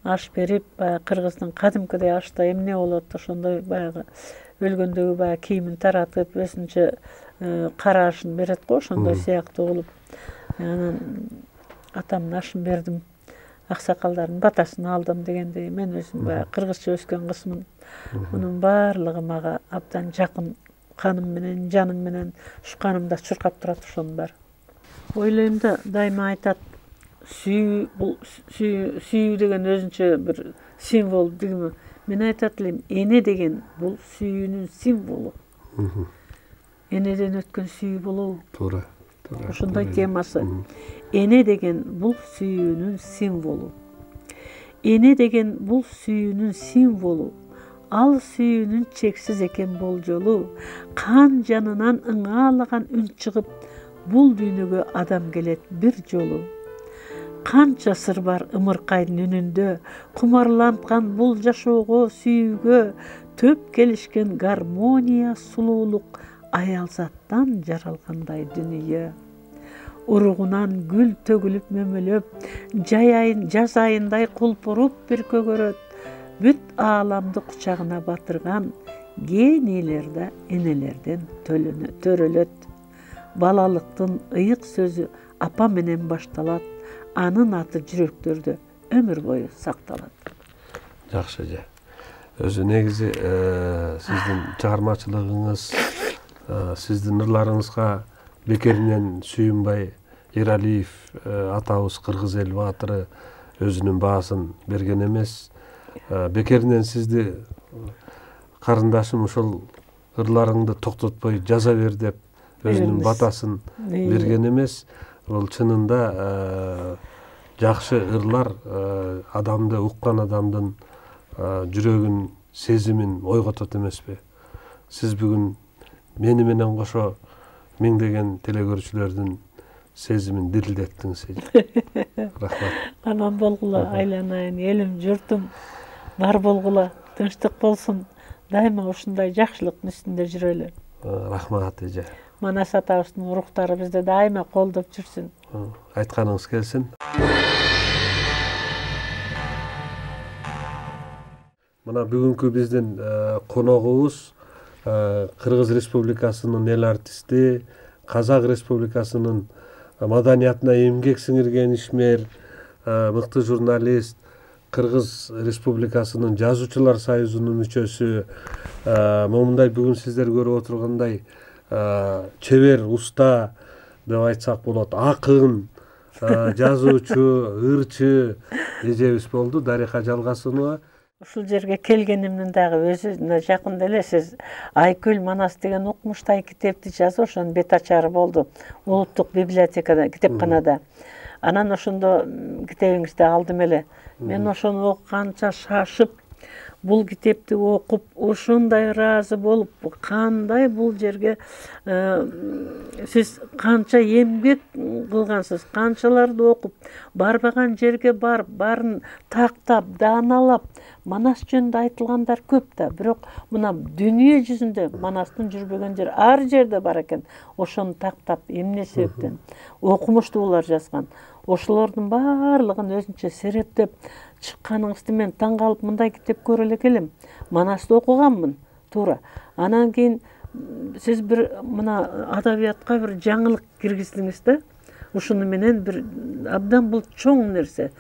Speaker 4: Аш берип, баягы кыргыздын кадимкидей ашта эмне болот, ошондой баягы өлгөндөгү баягы кийимин таратып, өзүнчө карашын берет го, ошондой сыяктуу кылып. Анан атамдын ашын бердим. аксакалдардын батасын алдым дегендей, мен өзүм баягы кыргызча өскөн кызмын. Мунун баардыгы мага абдан жакын, каным менен, жаным менен, ушу канымда чуркап турат ошонун баары. Ойлойм да, дайыма айтат, сүйүү деген өзүнчө бир символ дегими. Мен айтат элем, эне деген бул сүйүүнүн символу. Энеден өткөн сүйүү болобу?
Speaker 2: Туура.
Speaker 4: Ошондой темасы. Эне деген бул сүйүүнүн символу. Эне деген бул сүйүүнүн символу. Ал сүйүүнүн чексиз экен болжолу. Кан жанынан ыңаалаган үн чыгып, бул дүйнөгө адам келет бир жолу. Канча сыр бар ымыркайдын үнүндө, кумарланткан бул жашоого, сүйүүгө, төп келишкен гармония, сулуулук, аял заттан жаралгандай дүнүйө. Уругунан гүл төгүлүп мөмөлөп, жаз айындай кулпуруп бир көгөрөт, бүт ааламды кучагына батырган генийлерде энелерден төрөлөт. Балалыктын ыйык сөзү апа менен башталат, анын аты жүрөктөрдө өмүр бою сакталат.
Speaker 2: Жакшы эже. Өзү негизи сиздин чыгармачылыгыңыз, сиздин ырларыңызга бекеринен Сүйүнбай Эралиев атабыз кыргыз эл баатыры өзүнүн баасын берген эмес. Бекеринен сизди карындашым ушул ырларыңды токтотпой жаза бер деп өзүнүн батасын берген эмес. Бул чынында жакшы ырлар адамды, уккан адамдын жүрөгүн, сезимин ойготот эмеспи? Сиз бүгүн мени менен кошо миңдеген телекөрүүчүлөрдүн сезимин дирилдеттиңиз. Рахмат.
Speaker 4: Аман болгула, айланайын, элим, журтум бар болгула, тынчтык болсун. Дайыма ушундай жакшылыктын үстүндө жүрөлү.
Speaker 2: Рахмат эже.
Speaker 4: Манас атабыздын уруктары бизди дайыма колдоп жүрсүн.
Speaker 2: Айтканыңыз келсин. Мына бүгүнкү биздин коногубуз Кыргыз Республикасынын эл артисти, Казак Республикасынын маданиятына эмгек сиңирген ишмер, мыкты журналист, Кыргыз Республикасынын Жазуучулар союзунун мүчөсү, момундай бүгүн сиздер көрүп отургандай чебер, уста деп айтсак болот, акын, жазуучу, ырчы эжебиз болду, Дариха Жалгасынова.
Speaker 4: Ушул жерге келгенимдин дагы өзүнө жакын эле сиз Айкөл Манас деген укмуштай китепти жазып, ошонун бет ачары болду улуттук библиотекада, китепканада. Анан ошондо китебиңизди алдым эле. Мен ошону окуганча шашып, бул китепти окуп, ошондой ыраазы болуп, кандай бул жерге сиз канча эмгек кылгансыз, канчаларды окуп, барбаган жерге барып, баарын тактап, дааналап, Манас жөнүндө айтылгандар көп да, бирок мына дүйнө жүзүндө Манастын жүрбөгөн жери ар жерде бар экен. Ошону тактап, эмне себептен окумуштуулар жазган. Ошолордун баардыгын өзүнчө серептеп чыкканыңызды мен таң калып, мындай китеп көрө эле келем. Манасты окуганмын, туура. Анан кийин сиз бир мына адабиятка бир жаңылык киргиздиңиз да. Ушуну менен бир абдан бул чоң нерсе.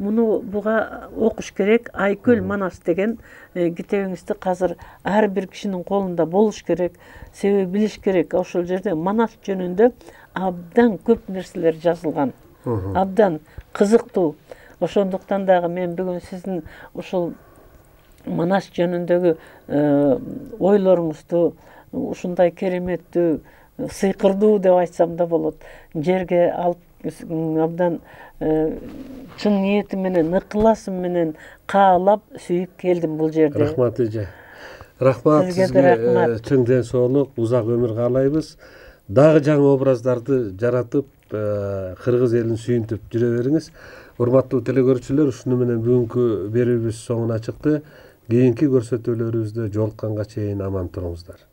Speaker 4: Муну буга окуш керек. Айкөл Манас деген китебиңизди азыр ар бир кишинин колунда болуш керек. Себеби билиш керек. Ошол жерде Манас жөнүндө абдан көп нерселер жазылган. Абдан кызыктуу. Ошондуктан дагы мен бүгүн сиздин ушул Манас жөнүндөгү ойлоруңузду ушундай кереметтүү, сыйкырдуу деп айтсам да болот, жерге алып абдан чын ниетим менен, ыкыласым менен каалап сүйүп келдим бул жерде.
Speaker 2: Рахмат эже. Рахмат сизге, чың ден соолук, узак өмүр каалайбыз. Дагы жаңы образдарды жаратып, кыргыз элин сүйүнтүп жүрө бериңиз. Урматтуу телекөрүүчүлөр, ушуну менен бүгүнкү берүүбүз соңуна чыкты. Кийинки көрсөтүүлөрүбүздө жолукканга чейин аман туруңуздар.